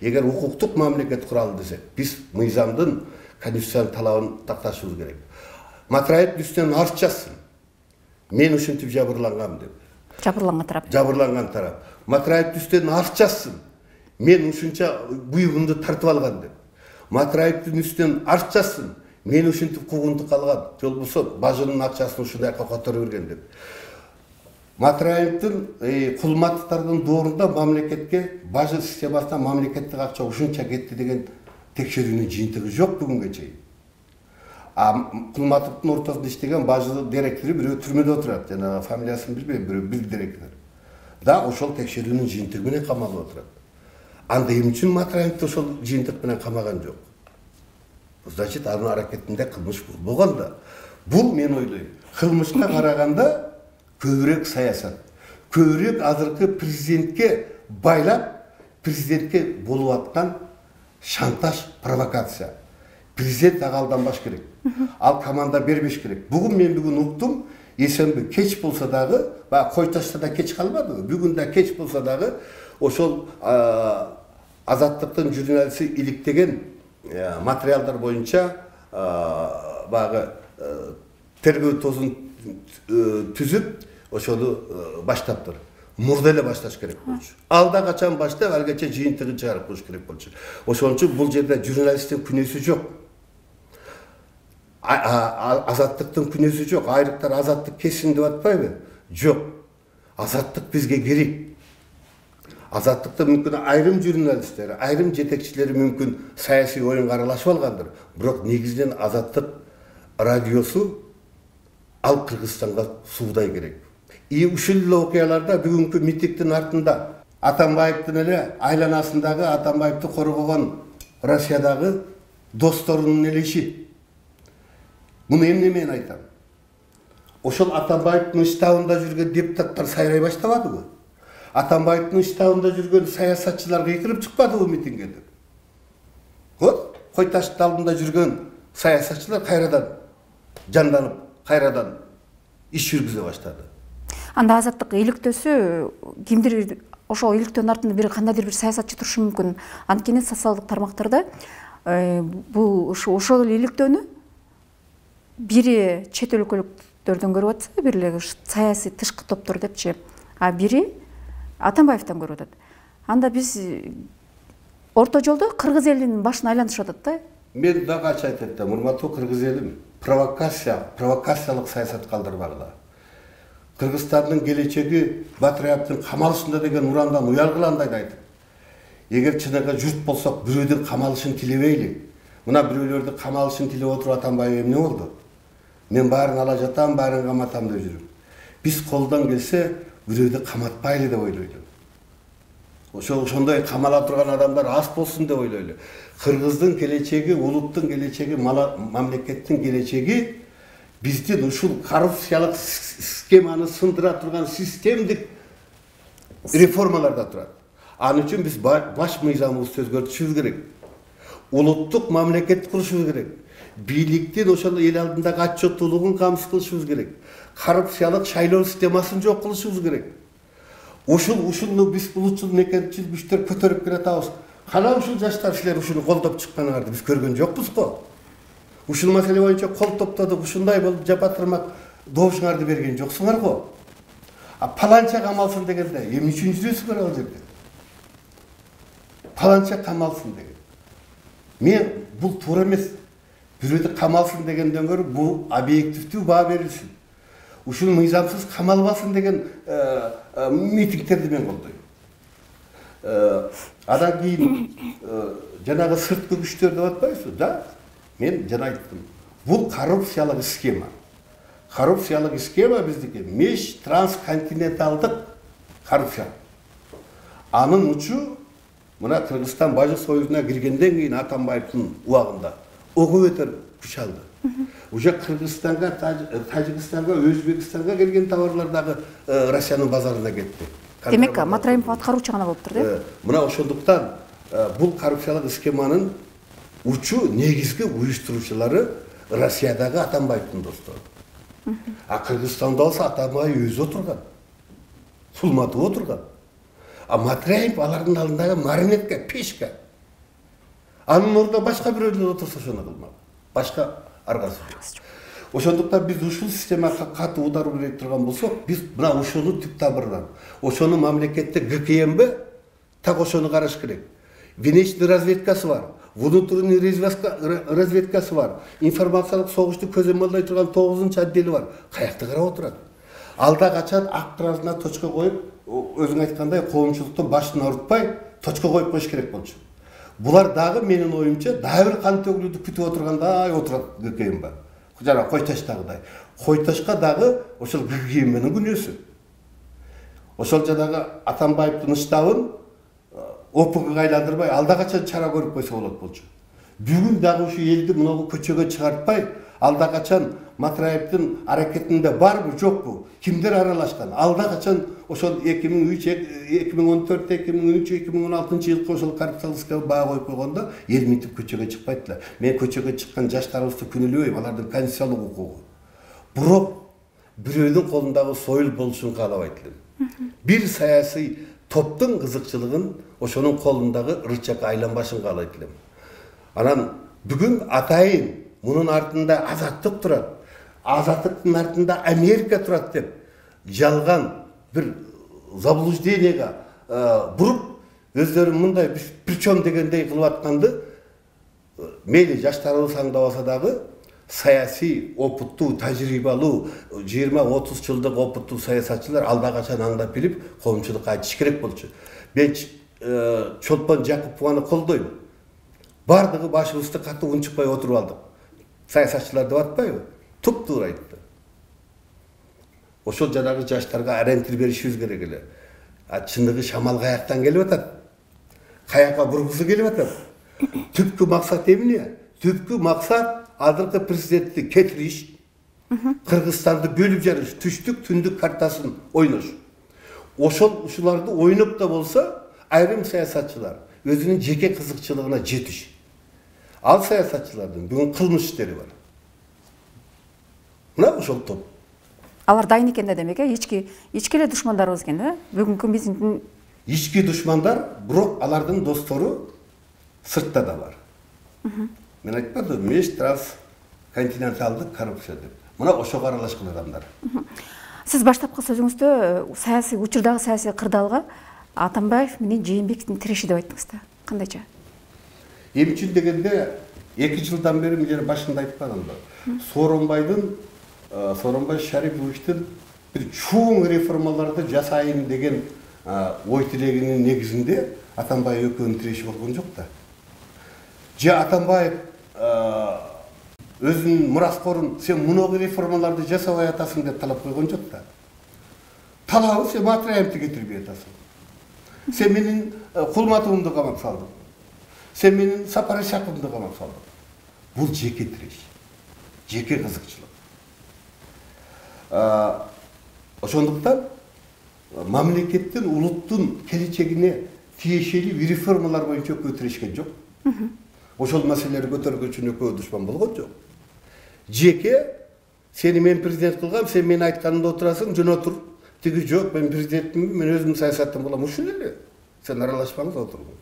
Speaker 2: Эгер укуктук мамлекет куралы десек, биз мыйзамдын, конституциянын талабын такташыбыз керек. Матраевдин үстүнөн арыз жазсын. Мен ушинтип жабырлангам деп. Жабырланган тарап. Матраевдин үстүнөн арыз жазсын. Мен ушунча буйугумду тартып алган деп. Матраевдин үстүнөн арыз жазсын. Мен ушинтип куугунтук алган, же болбосо бажынын акчасын ушундайга которуп берген деп. Матраевдин кулматтыктардын доорунда мамлекетке, бажы системасына мамлекеттик акча ушунча кетти деген текшерүүнүн жыйынтыгы жок бүгүнгө чейин. Кулматтыктын ортосунда иштеген бажы директору бирөө түрмөдө отурат, жана фамилиясын билбейм, бирөө бир директор. Да ошол текшерүүнүн жыйынтыгы менен камалып отурат. Анда эмне үчүн Матраевди ошол жыйынтык менен камаган жок? Значит, анын аракетинде кылмыш болгон да. Бул мен ойлойм, кылмышка караганда көбүрөөк саясат, көбүрөөк азыркы президентке байлап, президентке болуп аткан шантаж, провокация. Президент ага алданбаш керек. Ал команда бербеш керек. Бүгүн уктум, эсенби кеч болсо дагы, баягы кой ташта да кеч калбадыбы? Бүгүн да кеч болсо дагы ошол Азаттыктын журналисти иликтеген материалдар боюнча баягы тергөө тозун түзүп ошону баштаптыр. Мурда эле башташ керек болчу. Алда качан баштап, алгача жыйынтыгын чыгарып коюш керек болчу. Ошон үчүн бул жерде журналисттин күнөөсү жок. Азаттыктын күнөөсү жок. Айрыктар азаттык кесин деп атпайбы? Жок. Азаттык бизге керек. Азаттыкта мүмкүн айрым журналисттер, айрым жетекчилери мүмкүн саясий оюнга аралашып алгандыр. Бирок негизинен Азаттык радиосу ал Кыргызстанга суудай керек. Ушул эле окуяларда бүгүнкү митингдин артында Атамбаевдин эле айланасындагы Атамбаевди коргогон Россиядагы досторунун эле иши. Муну эмне менен айтам? Ошол Атамбаевдин штабында жүргөн депутаттар сайрай баштабадыбы? Атамбаевдин штабында жүргөн саясатчылар кыйкырып чыкпадыбы митингге? Вот, кой таштын алдында жүргөн саясатчылар кайрадан жанданып, кайрадан иш жүргүзө баштады.
Speaker 1: Анда Азаттык иликтөөсү кимдир ошол иликтөөнүн артында бир кандайдыр бир саясатчы турушу мүмкүн. Анткени социалдык тармактарда бул ошол иликтөөнү бири чет өлкөлүктөрдөн көрүп атса, бири саясий тышкы топтор депчи, а бири Атамбаевден көрүп атат. Анда биз орто жолдо кыргыз элинин башын айлантышып атат да.
Speaker 2: Мен дагы ачык айтып атам, урматтуу кыргыз элим, провокациялык саясат калдырбагыла. Кыргызстандын келечеги Батыраевдин камалышында деген урандан уялгыла андайды айтып. эгер чыныгы журт болсок бирөөдүн камалышын тилебейли. Мына бирөөлөрдүн камалышын тилеп отуруп Атамбаев эмне болду? Мен баарын ала жатам, баарын каматам деп жүрүм. Биз колдон келсе бирөөдү каматпайлы деп ойлойлу. Ошондой камала турган адамдар аз болсун деп ойлойлу. Кыргыздын келечеги, улуттун келечеги, мамлекеттин келечеги биздин ушул коррупциялык схеманы сындыра турган системдик реформаларда турат. Анын үчүн биз баш мыйзамыбызды өзгөртүшүбүз керек. Улуттук мамлекет курушубуз керек. Бийликтин ошол эл алдындагы отчеттуулугун камсыз кылышыбыз керек. Коррупциялык шайлоо системасын жок кылышыбыз керек. Ушуну биз улутчул мекенчил күчтөр көтөрүп келатабыз. Кана ушул жаштар силер ушуну колдоп чыкканыңарды биз көргөн жокпуз го. Ушул маселе боюнча кол топтодук, ушундай болуп жапатырмак добушуңарды берген жоксуңар го. Паланча камалсын дегенде эмне үчүн жүрөсүңөр ал жерде? Паланча камалсын деген. Мен бул туура эмес. Бирөөдү камалсын дегенден көрө бул объективдүү баа берилсин. Ушул мыйзамсыз камалбасын деген митингтерди мен колдойм. Адан кийин жанагы сырткы күчтөр деп атпайсызбы? Да, мен жана айттым. Бул коррупциялык схема. Коррупциялык схема биздики меж трансконтиненталдык коррупция. Анын учу мына Кыргызстан Бажык союзуна киргенден кийин Атамбаевдин убагында ого бетер күч алды. Уже Кыргызстанга, Тажикстанга, Өзбекстанга келген товарлар дагы Россиянын базарына кетти.
Speaker 1: Демек, Матраимов аткаруучу гана болуптур, да?
Speaker 2: Мына ошондуктан бул коррупциялык схеманын учу негизги уюштуруучулары Россиядагы Атамбаевдин достору. Кыргызстанда болсо Атамбаев өзү отурган. Сулматов отурган. Матраимов алардын алдындагы марионетка, пешка. Анын ордуна башка бирөөлөр отурса ошону кылмак. Башка аргасы жок. Ошондуктан биз ушул системага катуу удар бере турган болсок, биз мына ошону түп тамырынан, ошону мамлекетте ГКМБ так ошону караш керек. Внешний разведкасы бар, внутренний разведкасы бар, информациялык согушту көзөмөлдөй турган 9-чы отдели бар. Каякта карап отурат? Алда качан ак кагазына точка коюп, өзүң айткандай коомчулуктун башын ауыртпай точка коюп коюш керек болчу. Булар дагы менин оюмча дагы бир кан төгүлүүдү күтүп отургандай отурат ГКМБ. Жана Койташтагыдай. Койташка дагы ошол ГКМБнын күнөөсү. Ошол жанагы Атамбаевдин штабын ОПГга айландырбай алда качан чара көрүп койсо болот болчу. Бүгүн дагы ушу элди мынагу көчөгө чыгартпай, алда качан Матраевдин аракетинде барбы, жокпу? Кимдер аралашкан? Алда качан ошол 2003, 2014, 2013, 2016 жылкы ошол коррупциялык баа коюп койгондо эл мынтип көчөгө чыкпайт эле. Мен көчөгө чыккан жаштарыбызды күнөөлөбөйм, алардын конституциялык укугу. Бирок бирөөнүн колундагы союл болушун каалабайт элем. Бир саясий топтун кызыкчылыгын ошонун колундагы рычагга айланбашын каалайт элем. Анан бүгүн атайын мунун артында азаттык турат. Азаттыктын артында Америка турат деп жалган бир заблуждениега буруп өздөрү мындай причем дегендей кылып атканды мейли жаштарыбыз аңдабаса дагы саясий опыттуу, тажрыйбалуу 20-30 жылдык опыттуу саясатчылар алда качан аңдап билип коомчулукка айтыш керек болчу. Мен Чолпон Жакупованы колдойм. Бардыгы башыбызды катуу унчукпай отуруп алдык. Саясатчылар деп атпайбы? Туп-туура айтты. Ошол жанагы жаштарга ориентир беришибиз керек эле. Чындыгы шамал каяктан келип атат? Каякка бургусу келип атат? Түпкү максат эмне? Түпкү максат азыркы президентти кетириш, Кыргызстанды бөлүп жарыш, түштүк түндүк картасын ойнош. Ушуларды ойноп да болсо, айрым саясатчылар өзүнүн жеке кызыкчылыгына жетиш. Ал саясатчылардын бүгүн кылмыш иштери бар. Мына ошол топ.
Speaker 1: Алар дайын экен да демек, ички эле душмандарыбыз экен, да? Бүгүнкү биздин
Speaker 2: ички душмандар, бирок алардын достору сыртта да бар. Мен айтпадым, меж трансконтиненталдык коррупция деп. Мына ошого аралашкан адамдар.
Speaker 1: Сиз баштапкы сөзүңүздө саясий учурдагы саясий кырдаалга Атамбаев менен Жээнбековдун тиреши деп айттыңыз да. Кандайча?
Speaker 2: Эмне үчүн дегенде 2 жылдан бери мен башында айтканымда Сооронбай Шариповичтин бир чоң реформаларды жасайын деген ой тилегинин негизинде Атамбаев экөөнүн тиреши болгон жок да. Же Атамбаев өзүнүн мураскорун сен муногу реформаларды жасабай атасың деп талап койгон жок да. Талабы сен Матраевди кетирбей атасың. Сен менин Кулматовумду камап салдың. Сен менин Сапар Исаковду камап салдың. Бул жеке тиреш, жеке кызыкчылык. Ошондуктан мамлекеттин, улуттун келечегине тиешелүү реформалар боюнча экөө тирешкен жок. Ошол маселелерди көтөргөн үчүн экөө душман болгон жок. Жеке сени мен президент кылгам, сен менин айтканымда отурасың, жөн отур. Тиги жок, мен президентмин, мен өзүм саясаттан болом. Ушул эле. Сен аралашпаңыз, отургун.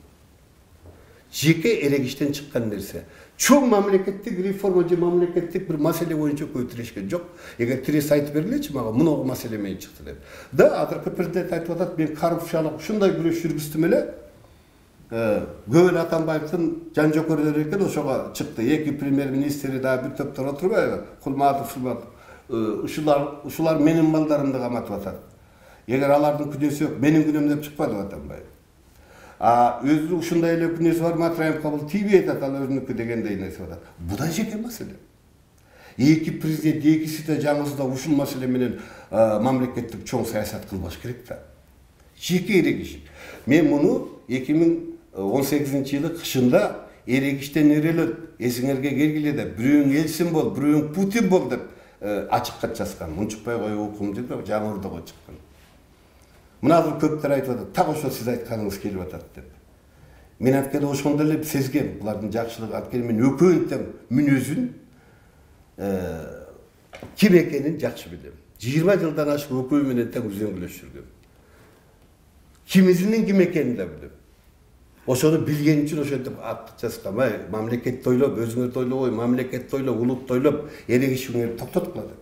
Speaker 2: Жеке эрегиштен чыккан нерсе. Чоң мамлекеттик реформа же мамлекеттик бир маселе боюнча көп тирешкен жок. Эгер тиресе айтып бергилечи мага, муногу маселе менен чыкты деп. Да, азыркы президент айтып атат, мен коррупциялык ушундай күрөш жүргүздүм эле. Көп эле Атамбаевдин жан жокөрлөрү экен, ошого чыкты. Эки премьер-министри да бир топтор отурбайбы? Кулматов, ушулар менин балдарымды каматып атат. Эгер алардын күнөөсү жок, менин күнөөм деп чыкпады Атамбаев. Өзү ушундай эле күнөөсү бар, Матраев кабыл тийбей атат, ал өзүнүкү дегендей нерсе атат. Бу да жеке маселе. Эки президент, экиси да жаңысында ушул маселе менен мамлекеттик чоң саясат кылбаш керек да. Жеке эрегиш. Мен муну 2018-жылы кышында эрегиштен эрелет, эсиңерге келгиле деп, бирөөң Элсин бол, бирөөң Путин бол деп ачык кат жазган. Мунчукпай коюп окум деп жаңырдыга чыккан. Мына азыр көптөр айтып атат, так ошо сиз айтканыңыз келип атат деп. Мен анткени ошондой эле сезгем, булардын жакшылыгы, анткени мен экөөнүн тең мүнөзүн ким экенин жакшы билем. 20 жылдан ашык экөө менен тең үзөңгүлөшүп жүргөм. Кимизинин ким экенин да билем. Ошону билген үчүн ошентип ат жазгам. Мамлекетти ойлоп, өзүңөрдү ойлобой, мамлекетти ойлоп, улутты ойлоп, эрегишиңерди токтоткула деп.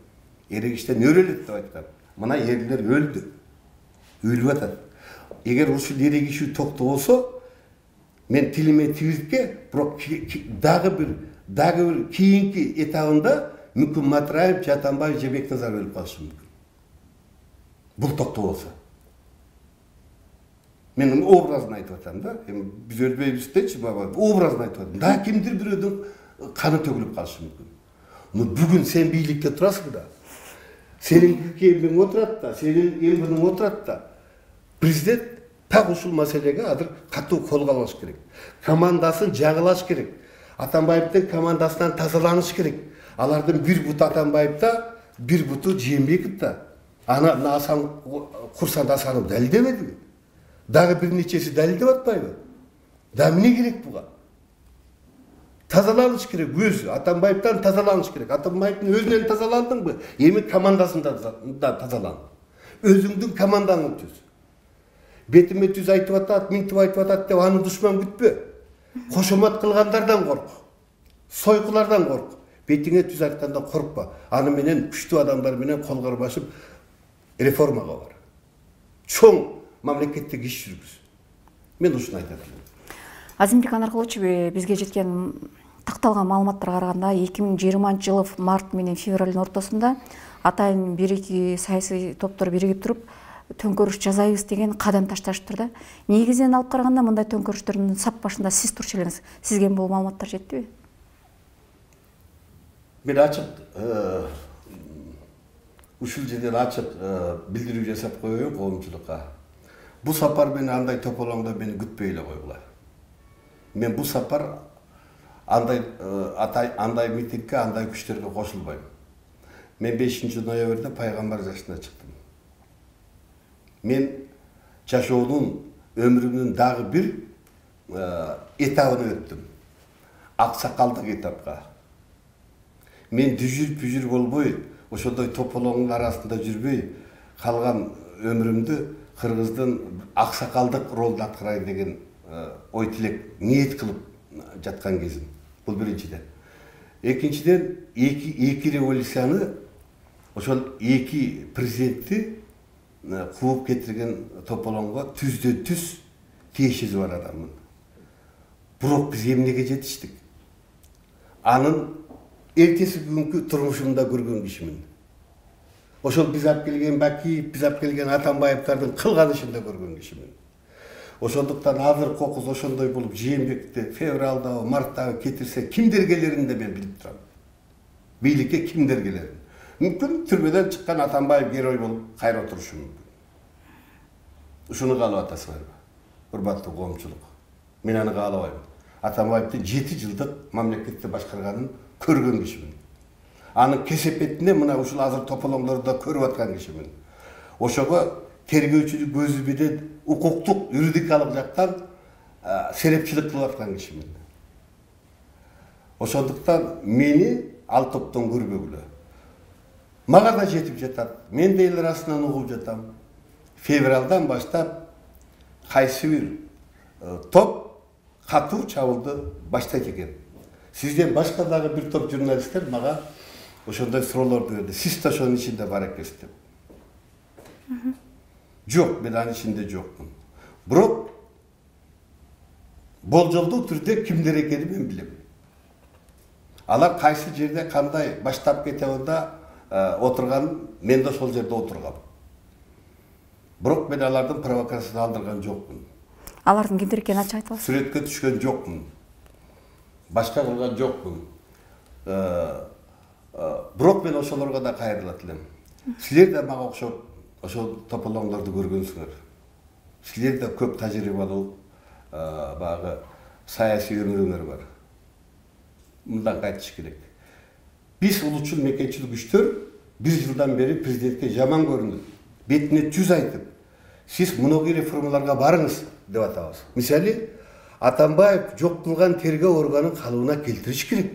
Speaker 2: Эрегиштен өрөлөт деп айткан. Мына эрлер өлдү. Өлүп атат. Эгер ушул эрегишүү токтобосо, мен тилиме тигизке, бирок дагы бир кийинки этабында мүмкүн Матраев, Атамбаев же Бекназаров өлүп калышы мүмкүн. Бул токтобосо. Мен образын айтып атам да. Биз өлбөйбүз дечи, образын айтып атам. Да кимдир бирөөдүн каны төгүлүп калышы мүмкүн. Но бүгүн сен бийликте турасың да. Сенин кемиң отурат да, сенин эмбириң отурат да. Президент так ушул маселеге азыр катуу колго алыш керек. Командасын жагылаш керек. Атамбаевдин командасынан тазаланыш керек. Алардын бир буту Атамбаевда, бир буту Жээнбеков да. Аны Асан Курсан Асанов далилдебедиби? Дагы бир нечеси далилдеп атпайбы? Да эмне керек буга? Тазаланыш керек өзү. Атамбаевден тазаланыш керек. Атамбаевдин өзүнөн тазаландыңбы? Эми командасында да тазалан. Өзүңдүн командаңды түз. Бетиме түз айтып атат, минтип айтып атат деп аны душман күтпө. Кошомат кылгандардан корк. Сойкулардан корк. Бетиңе түз айтканда коркпа. Аны менен күчтүү адамдар менен кол карбашып реформага бар. Чоң мамлекеттик иш жүргүз. Мен ушуну айтат элем.
Speaker 1: Азимбек Анаркулович, бизге жеткен такталган маалыматтарга караганда 2020-жылы март менен февралдын ортосунда атайын бир-эки саясий топтор биригип туруп төңкөрүш жасайбыз деген кадам ташташыптыр да. Негизинен алып караганда мындай төңкөрүштөрдүн сап башында сиз турчу элеңиз. Сизге бул маалыматтар жеттиби?
Speaker 2: Мен ачык ушул жерден ачык билдирүү жасап коеюн коомчулукка. Бу сапар менен андай тополоңдо мени күтпөй эле койгула. Мен бу сапар андай митингге, андай күчтөргө кошулбайм. Мен 5-ноябрда пайгамбар жашына чыктым. Мен жашоонун, өмүрүмдүн дагы бир этабын өттүм. Аксакалдык этапка. Мен дүжүр-пүжүр болбой, ошондой тополоңдун арасында жүрбөй, калган өмүрүмдү кыргыздын аксакалдык ролун аткарайын деген ой тилек, ниет кылып жаткан кезим. Бул биринчиден. Экинчиден, эки революцияны, ошол эки президентти кууп кетирген тополоңго түздөн-түз тиешеси бар адаммын. Бирок биз эмнеге жетиштик? Анын эртеси күнгү турмушумда көргөн кишимин. Ошол биз алып келген Бакиев, биз алып келген Атамбаевдардын кылган ишинде көргөн кишимин. Ошондуктан азыр кокус ошондой болуп Жээнбекти февралдабы, марттабы кетирсе кимдер келерин да мен билип турам. Бийликке кимдер келерин. Мүмкүн түрмөдөн чыккан Атамбаев герой болуп кайра отурушу мүмкүн. Ушуну каалап атасызбарбы? Урматтуу коомчулук. Мен аны каалабайм. Атамбаевдин 7 жылдык мамлекетти башкарганын көргөн кишимин. Анын кесепетине мына ушул азыр тополоңдордо көрүп аткан кишимин. Ошого тергөөчүлүк көзү менен укуктук, юридикалык жактан серепчилик кылып аткан кишимин. Ошондуктан мени ал топтон көрбөгүлө. Мага да жетип жатат. Мен да эл арасынан угуп жатам. Февралдан баштап кайсы бир топ катуу чабуулду баштайт экен. Сизден башка дагы бир топ журналисттер мага ошондой суроолорду берди. Сиз да ошонун ичинде бар экенсиз деп. Жок, мен анын ичинде жокмун. Бирок болжолдуу түрдө кимдер экенин мен билем. Алар кайсы жерде кандай баштап кетебинде отурган, мен да ошол жерде отургам. Бирок мен алардын провокациясын алдырган жокмун.
Speaker 1: Алардын кимдер экенин ачык айта аласыз?
Speaker 2: Сүрөткө түшкөн жокмун. Башка кылган жокмун. Бирок мен ошолорго да кайрылат элем. Силер да мага окшоп ошол тополоңдорду көргөнсүңөр. Силер да көп тажрыйбалуу багы саясий өмүрүңөр бар. Мындан кайтыш керек. Биз улутчул мекенчил күчтөр 1 жылдан бери президентке жаман көрүнүп, бетине жүз айтып, сиз мыногу реформаларга барыңыз деп атабыз. Мисалы, Атамбаев жок кылган тергөө органын калыбына келтириш керек.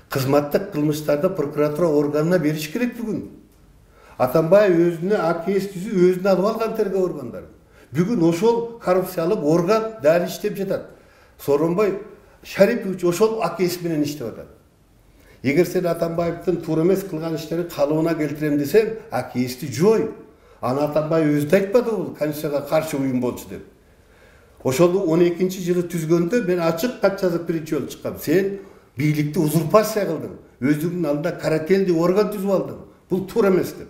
Speaker 2: Кызматтык кылмыштарды прокуратура органына бериш керек бүгүн. Атамбаев өзүнө АКС түзүп, өзүнө алып алган тергөө органдары. Бүгүн ошол коррупциялык орган дали иштеп жатат. Сооронбай Шарипович ошол АКС менен иштеп атат. Эгер сен Атамбаевдин туура эмес кылган иштерин калыбына келтирем десең, АКСти жой. Аны Атамбаев өзү айтпады бул Конституцияга каршы уюм болчу деп. Ошол 12-жылы түзгөндө мен ачык кат жазып биринчи жолу чыккам. Сен бийликти узурпация кылдың. Өзүңдүн алдында карательный орган түзүп алдың. Бул туура эмес деп.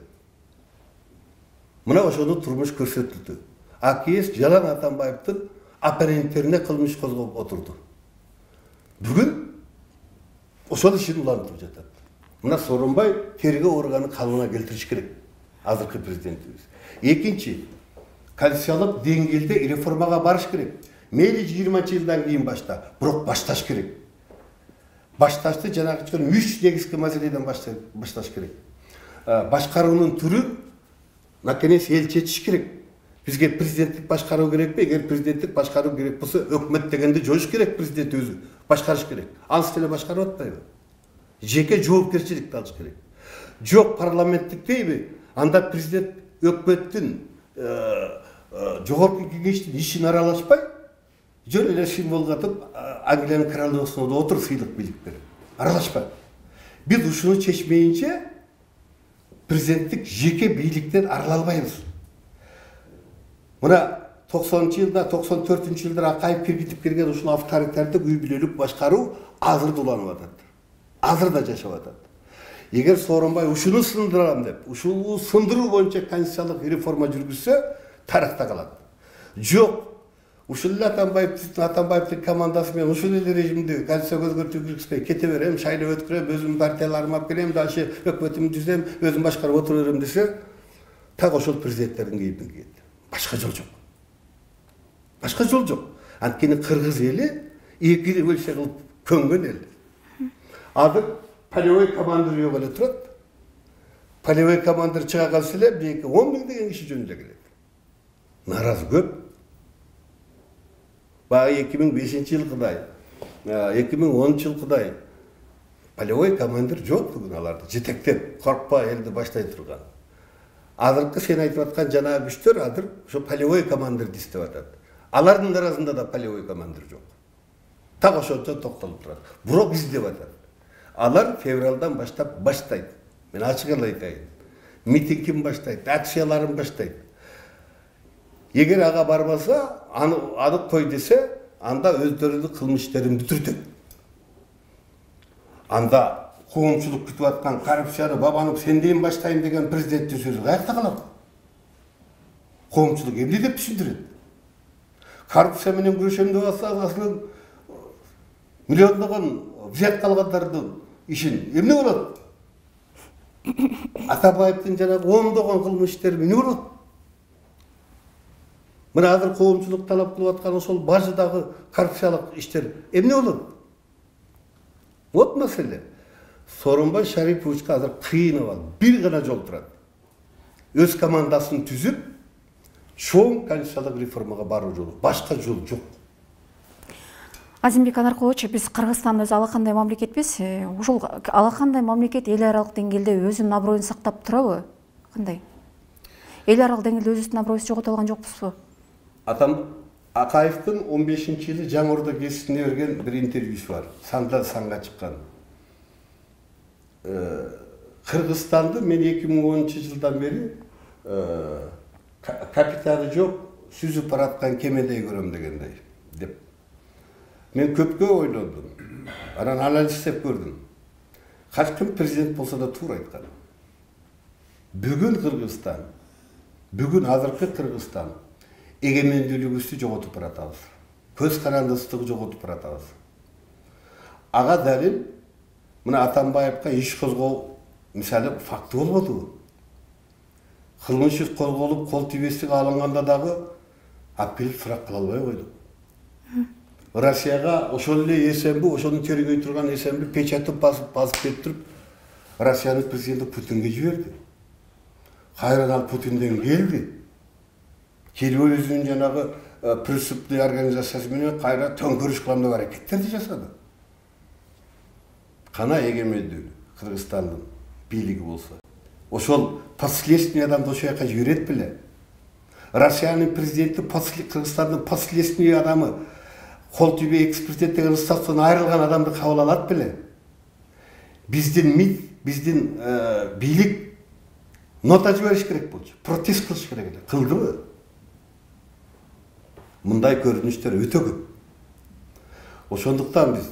Speaker 2: Мына ошону турмуш көрсөтүлдү. АКС жалаң Атамбаевдин оппоненттерине кылмыш козгоп отурду. Бүгүн ошол ишин улантып жатат. Мына Сооронбай тергөө органын калыбына келтириш керек. Азыркы президентибиз. Экинчи, конституциялык деңгээлде реформага барыш керек. Мейли 20-жылдан кийин башта, бирок башташ керек. Башташты жанагы 3 негизги маселеден башташ керек. Башкаруунун түрүн наконец эл чечиш керек. Бизге президенттик башкаруу керекпи? Эгер президенттик башкаруу керек болсо, өкмөт дегенди жоюш керек, президент өзү башкарыш керек. Ансы деле башкарып атпайбы? Жеке жоопкерчиликти алыш керек. Жок парламенттик дейби? Анда президент өкмөттүн жогорку кеңештин ишин аралашпай, жөн эле символ катып Англиянын королевасында отуруп сыйлык бийлик берип. Аралашпай. Биз ушуну чечмейинче президенттик жеке бийликтен арыла албайбыз. Мына 90-жылда, 94-жылдар Акаев киргизип келген ушул авторитардык үй бүлөлүк башкаруу азыр да уланып атат. Азыр да жашап атат. Эгер Сооронбай ушуну сындырам деп, ушул сындыруу боюнча конституциялык реформа жүргүзсө, тарыхта калат. Жок, ушул эле Атамбаевдин командасы менен ушул эле режимди конституцияга өзгөртүү киргизбей кете берем, шайлап өткөрөм, өзүмдүн партияларымды алып келем, дальше өкмөтүмдү түзөм, өзүм башкарып отура берем десе, так ошол президенттердин кейпин кийет. Башка жол жок. Башка жол жок. Анткени кыргыз эли эки революция кылып көнгөн эл. Азыр полевой командир жок эле турат. Полевой командир чыга калса эле 10 000 деген киши жөнүндө келет. Наразы көп. Баягы 2005-жылкыдай, 2010-жылкыдай полевой командир жок бүгүн аларды жетектеп, коркпай элди баштай турган. Азыркы сен айтып аткан жанагы күчтөр азыр ошо полевой командирди издеп атат. Алардын арасында да полевой командир жок. Так ошончо токтолуп турат. Бирок издеп атат. Алар февралдан баштап баштайт. Мен ачык эле айтайын. Митингин баштайт, акцияларын баштайт. Эгер ага барбаса, аны кой десе, анда өздөрүнүн кылмыш иштерин бүтүртөт. Анда коомчулук күтүп аткан коррупцияны бабанып сенден баштайм деген президенттин сөзү каякта калат? Коомчулук эмне деп түшүндүрөт? коррупция менен күрөшөм деп атса, асылы миллиондогон взятка алгандардын ишин эмне болот? Атабаевдин жанагы ондогон кылмыш иштери эмне болот? Мына азыр коомчулук талап кылып аткан ошол бажыдагы коррупциялык иштер эмне болот? Вот маселе. Сооронбай Шариповичке азыр кыйынып алып, бир гана жол турат. Өз командасын түзүп, чоң конституциялык реформага баруу жолу. Башка жол жок.
Speaker 1: Азимбек Анаркулович, биз Кыргызстан өзү алакандай мамлекетпиз. Ушул алакандай мамлекет эл аралык деңгээлде өзүнүн аброюн сактап турабы? Кандай? Эл аралык деңгээлде өзүбүздүн аброюбузду жогото алган жокпузбу?
Speaker 2: Атам Акаевдин 15-жылы Жаңы Орда гезитине берген бир интервьюсу бар. Сандан санга чыккан. Кыргызстанды мен 2010-жылдан бери капитаны жок, сүзүп бараткан кемедей көрөм дегендей деп. Мен көпкө ойлондум. Анан анализдеп көрдүм. Качан ким президент болсо да туура айткан. Бүгүн Кыргызстан, бүгүн азыркы Кыргызстан эгемендүүлүгүбүздү жоготуп баратабыз. Көз карандысыздыгы жоготуп баратабыз. Ага далил мына Атамбаевка иш козгоо мисалы факты болбодубу? Кылмыш иш козголуп, кол тийбестик алынганда дагы апеллеп сурак кыла албай койдук. Россияга ошол эле СМБ, ошону тергөй турган СМБ печатып басып берип туруп, Россиянын президенти Путинге жиберди. Кайрадан ал Путинден келди. Келип өзүнүн жанагы преступный организациясы менен кайра төңкөрүш кылам деп аракеттерди жасады. Кана эгемендүүлүк Кыргызстандын бийлиги болсо. Ошол последствиядан ошол жака жиберет беле. Россиянын президенти Кыргызстандын последний адамы кол тийбей экс-президент деген статустан айрылган адамды кабыл алат беле. Биздин МИД, биздин бийлик нота жибериш керек болчу. Протест кылыш керек эле. Кылдыбы? Мындай көрүнүштөр өтө көп. Ошондуктан биз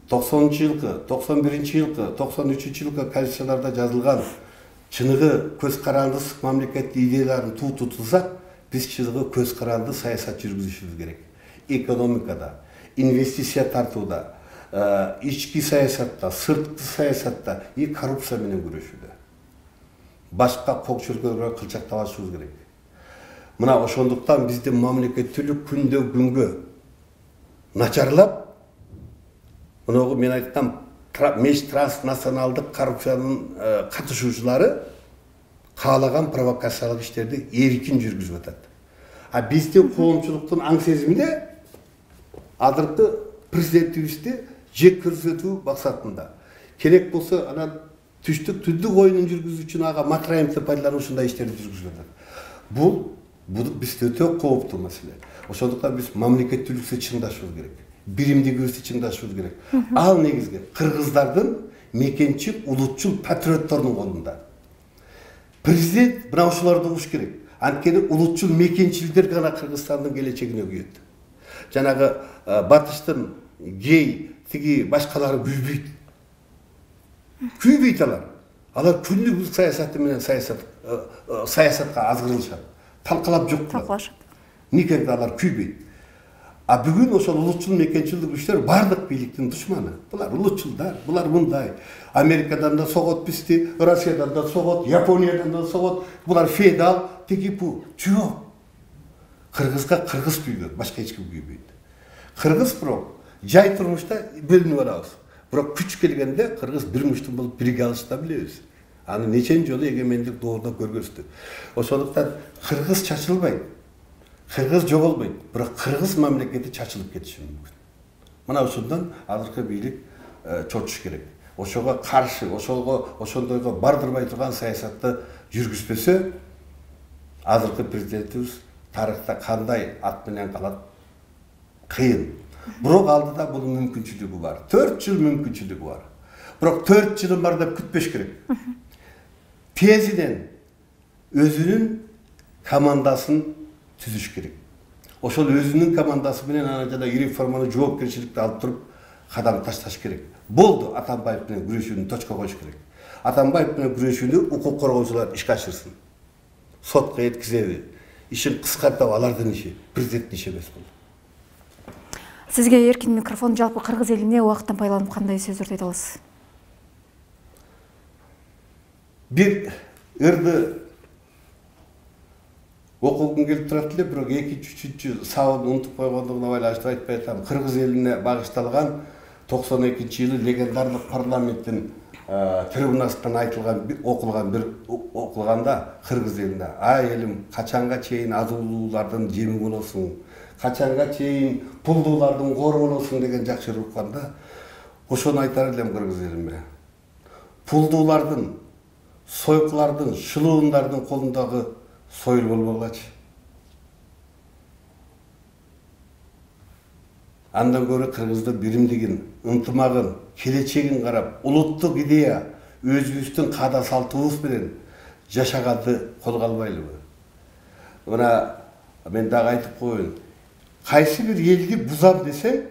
Speaker 2: 90-жылкы, 91-жылкы, 93-жылкы конституцияларда жазылган чыныгы көз карандысыз мамлекет идеяларын тутулсак, биз чыныгы көз каранды саясат жүргүзүшүбүз керек. Экономикада, инвестиция тартууда, ички саясатта, сырткы саясатта и коррупция менен күрөшүүдө. Башка кокчулукка кылчактабашыбыз керек. Мына ошондуктан биздин мамлекеттүүлүк күндөн күнгө начарлап, мынагы мен айткан межтранснационалдык коррупциянын катышуучулары каалаган провокациялык иштерди эркин жүргүзүп атат. А биздин коомчулуктун аң сезимине азыркы президентибизди жек көрсөтүү максатында керек болсо анан түздүк оюнун жүргүзүүчүн ага матраимди пайдаланып ушундай иштерди жүргүзүп атат. Бул бизде өтө кооптуу маселе. Ошондуктан биз мамлекеттүүлүккө чыңдашыбыз керек. Биримдигибизди чыңдашыбыз керек. Ал негизги кыргыздардын мекенчил, улутчул патриоттордун колунда. Президент мына ушуларды угуш керек. Анткени улутчул мекенчилдер гана Кыргызстандын келечегине күйөт. Жанагы батыштын гей, тиги башкалары күйбөйт. Күйбөйт алар. Алар күндүк саясаты менен саясатка азгырылышат. Талкалап жок кылат. Никогда алар күйбөйт. А бүгүн ошол улутчул мекенчилдик күчтөр бардык бийликтин душманы. Булар улутчулдар, булар мындай. Америкадан да согот бизди, Россиядан да согот, Япониядан да согот. Булар феодал, тигипу. Жок. Кыргызга кыргыз күйгөн, башка эч ким күйбөйт. Кыргыз бирок жай турмушта бөлүнүп барабыз. Бирок күч келгенде кыргыз бир муштун болуп бирге алышты билебиз. Аны нечен жолу эгемендик доордо көргөздү. Ошондуктан кыргыз чачылбайт. Кыргыз жоголбойт, бирок кыргыз мамлекети чачылып кетиши мүмкүн. Мына ошондон азыркы бийлик чочуш керек. Ошого каршы, ошондойго бардырбай турган саясатты жүргүзбөсө, азыркы президентибиз тарыхта кандай ат менен калат кыйын. Бирок алдыда бунун мүмкүнчүлүгү бар. 4 жыл мүмкүнчүлүгү бар. Бирок 4 жылым бар деп күтпөш керек. Тезиден өзүнүн командасын түзүш керек. Ошол өзүнүн командасы менен ана жана реформаны жоопкерчиликти алып туруп кадам ташташ керек. Болду, Атамбаев менен күрөшүүнү точка коюш керек. Атамбаев менен күрөшүүнү укук коргоочулар ишке ашырсын. Сотко жеткизеби, ишин кыскартып алардын иши, президенттин иши эмес бул.
Speaker 1: Сизге эркин микрофон. Жалпы кыргыз элине убакыттан пайдаланып кандай сөздөрдү айта аласыз?
Speaker 2: Бир ырды окугум келип турат эле, бирок экинчи, үчүнчү сабагын унутуп койгондугуна байланыштуу айтпай атам. Кыргыз элине багышталган 92-жылы легендарлык парламенттин трибунасынан айтылган окулганда кыргыз элине: "Ай элим, качанга чейин азуулуулардын жеми болосуң, качанга чейин пулдуулардын кору болосуң" деген жакшы укканда, ошону айтар элем кыргыз элиме. Пулдуулардын, сойкулардын, шылуундардын колундагы союл болбогулачы. Андан көрө кыргыздын биримдигин, ынтымагын, келечегин карап, улуттук идея, өзүбүздүн каада салтыбыз менен жашаганды колго албайлыбы? Мына мен дагы айтып коеюн. Кайсы бир элди бузам десең,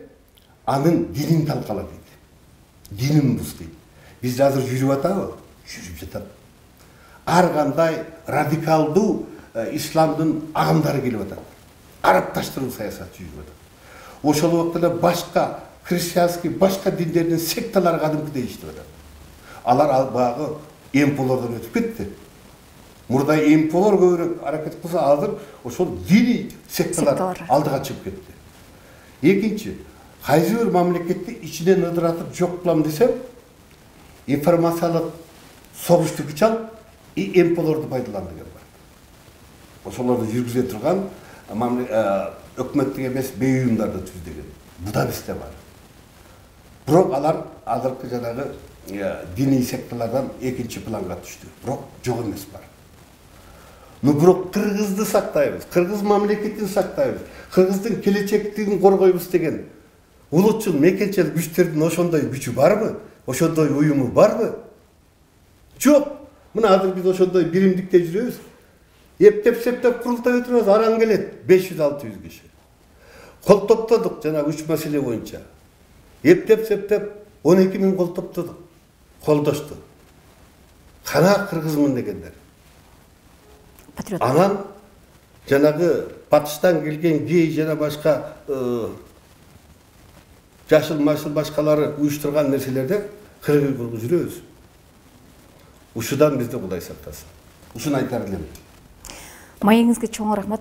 Speaker 2: анын динин талкала дейт. Динин буз дейт. Биз азыр жүрүп атабы? Жүрүп жатат. Ар кандай радикалдуу исламдын агымдары келип атат. Арапташтыруу саясаты жүрүп атат. Ошол убакта эле башка христианский, башка диндердин секталары кадимкидей иштеп атат. Алар багы эмполордон өтүп кетти. Мурда эмполор көбүрөөк аракет кылса, азыр ошол дини секталар алдыга чыгып кетти. Экинчи, кайсы бир мамлекетти ичинен ыдыратып жок кылам десем, информациялык согушту күч алып, эмполорду пайдаланды деген бар. Ошолорду жүргүзө турган өкмөттүк эмес бей уюмдарды түздөгөн. Буда бизде бар. Бирок алар азыркы жанагы диний секталардан экинчи планга түштү. Бирок жок эмес бар. Бирок кыргызды сактайбыз, кыргыз мамлекетин сактайбыз, кыргыздын келечектигин коргойбуз деген улутчул мекенчил күчтөрдүн ошондой күчү барбы? Ошондой уюму барбы? Жок. Мына азыр биз ошондой биримдикте жүрөбүз. Эптеп-септеп курултай өтүрөбүз, араң келет 500-600 киши. Кол топтодук жанагы 3 маселе боюнча. Эптеп-септеп 12 000 кол топтодук. Колдошту. Кана кыргызмын дегендер.
Speaker 1: Патриот.
Speaker 2: Анан жанагы батыштан келген гей жана башка жашыл-машыл башкалары уюштурган нерселерде кыргыз жүрөбүз. Ушудан бизди Кудай сактасын. Ушуну айтар элем.
Speaker 1: Маегиңизге чоң рахмат.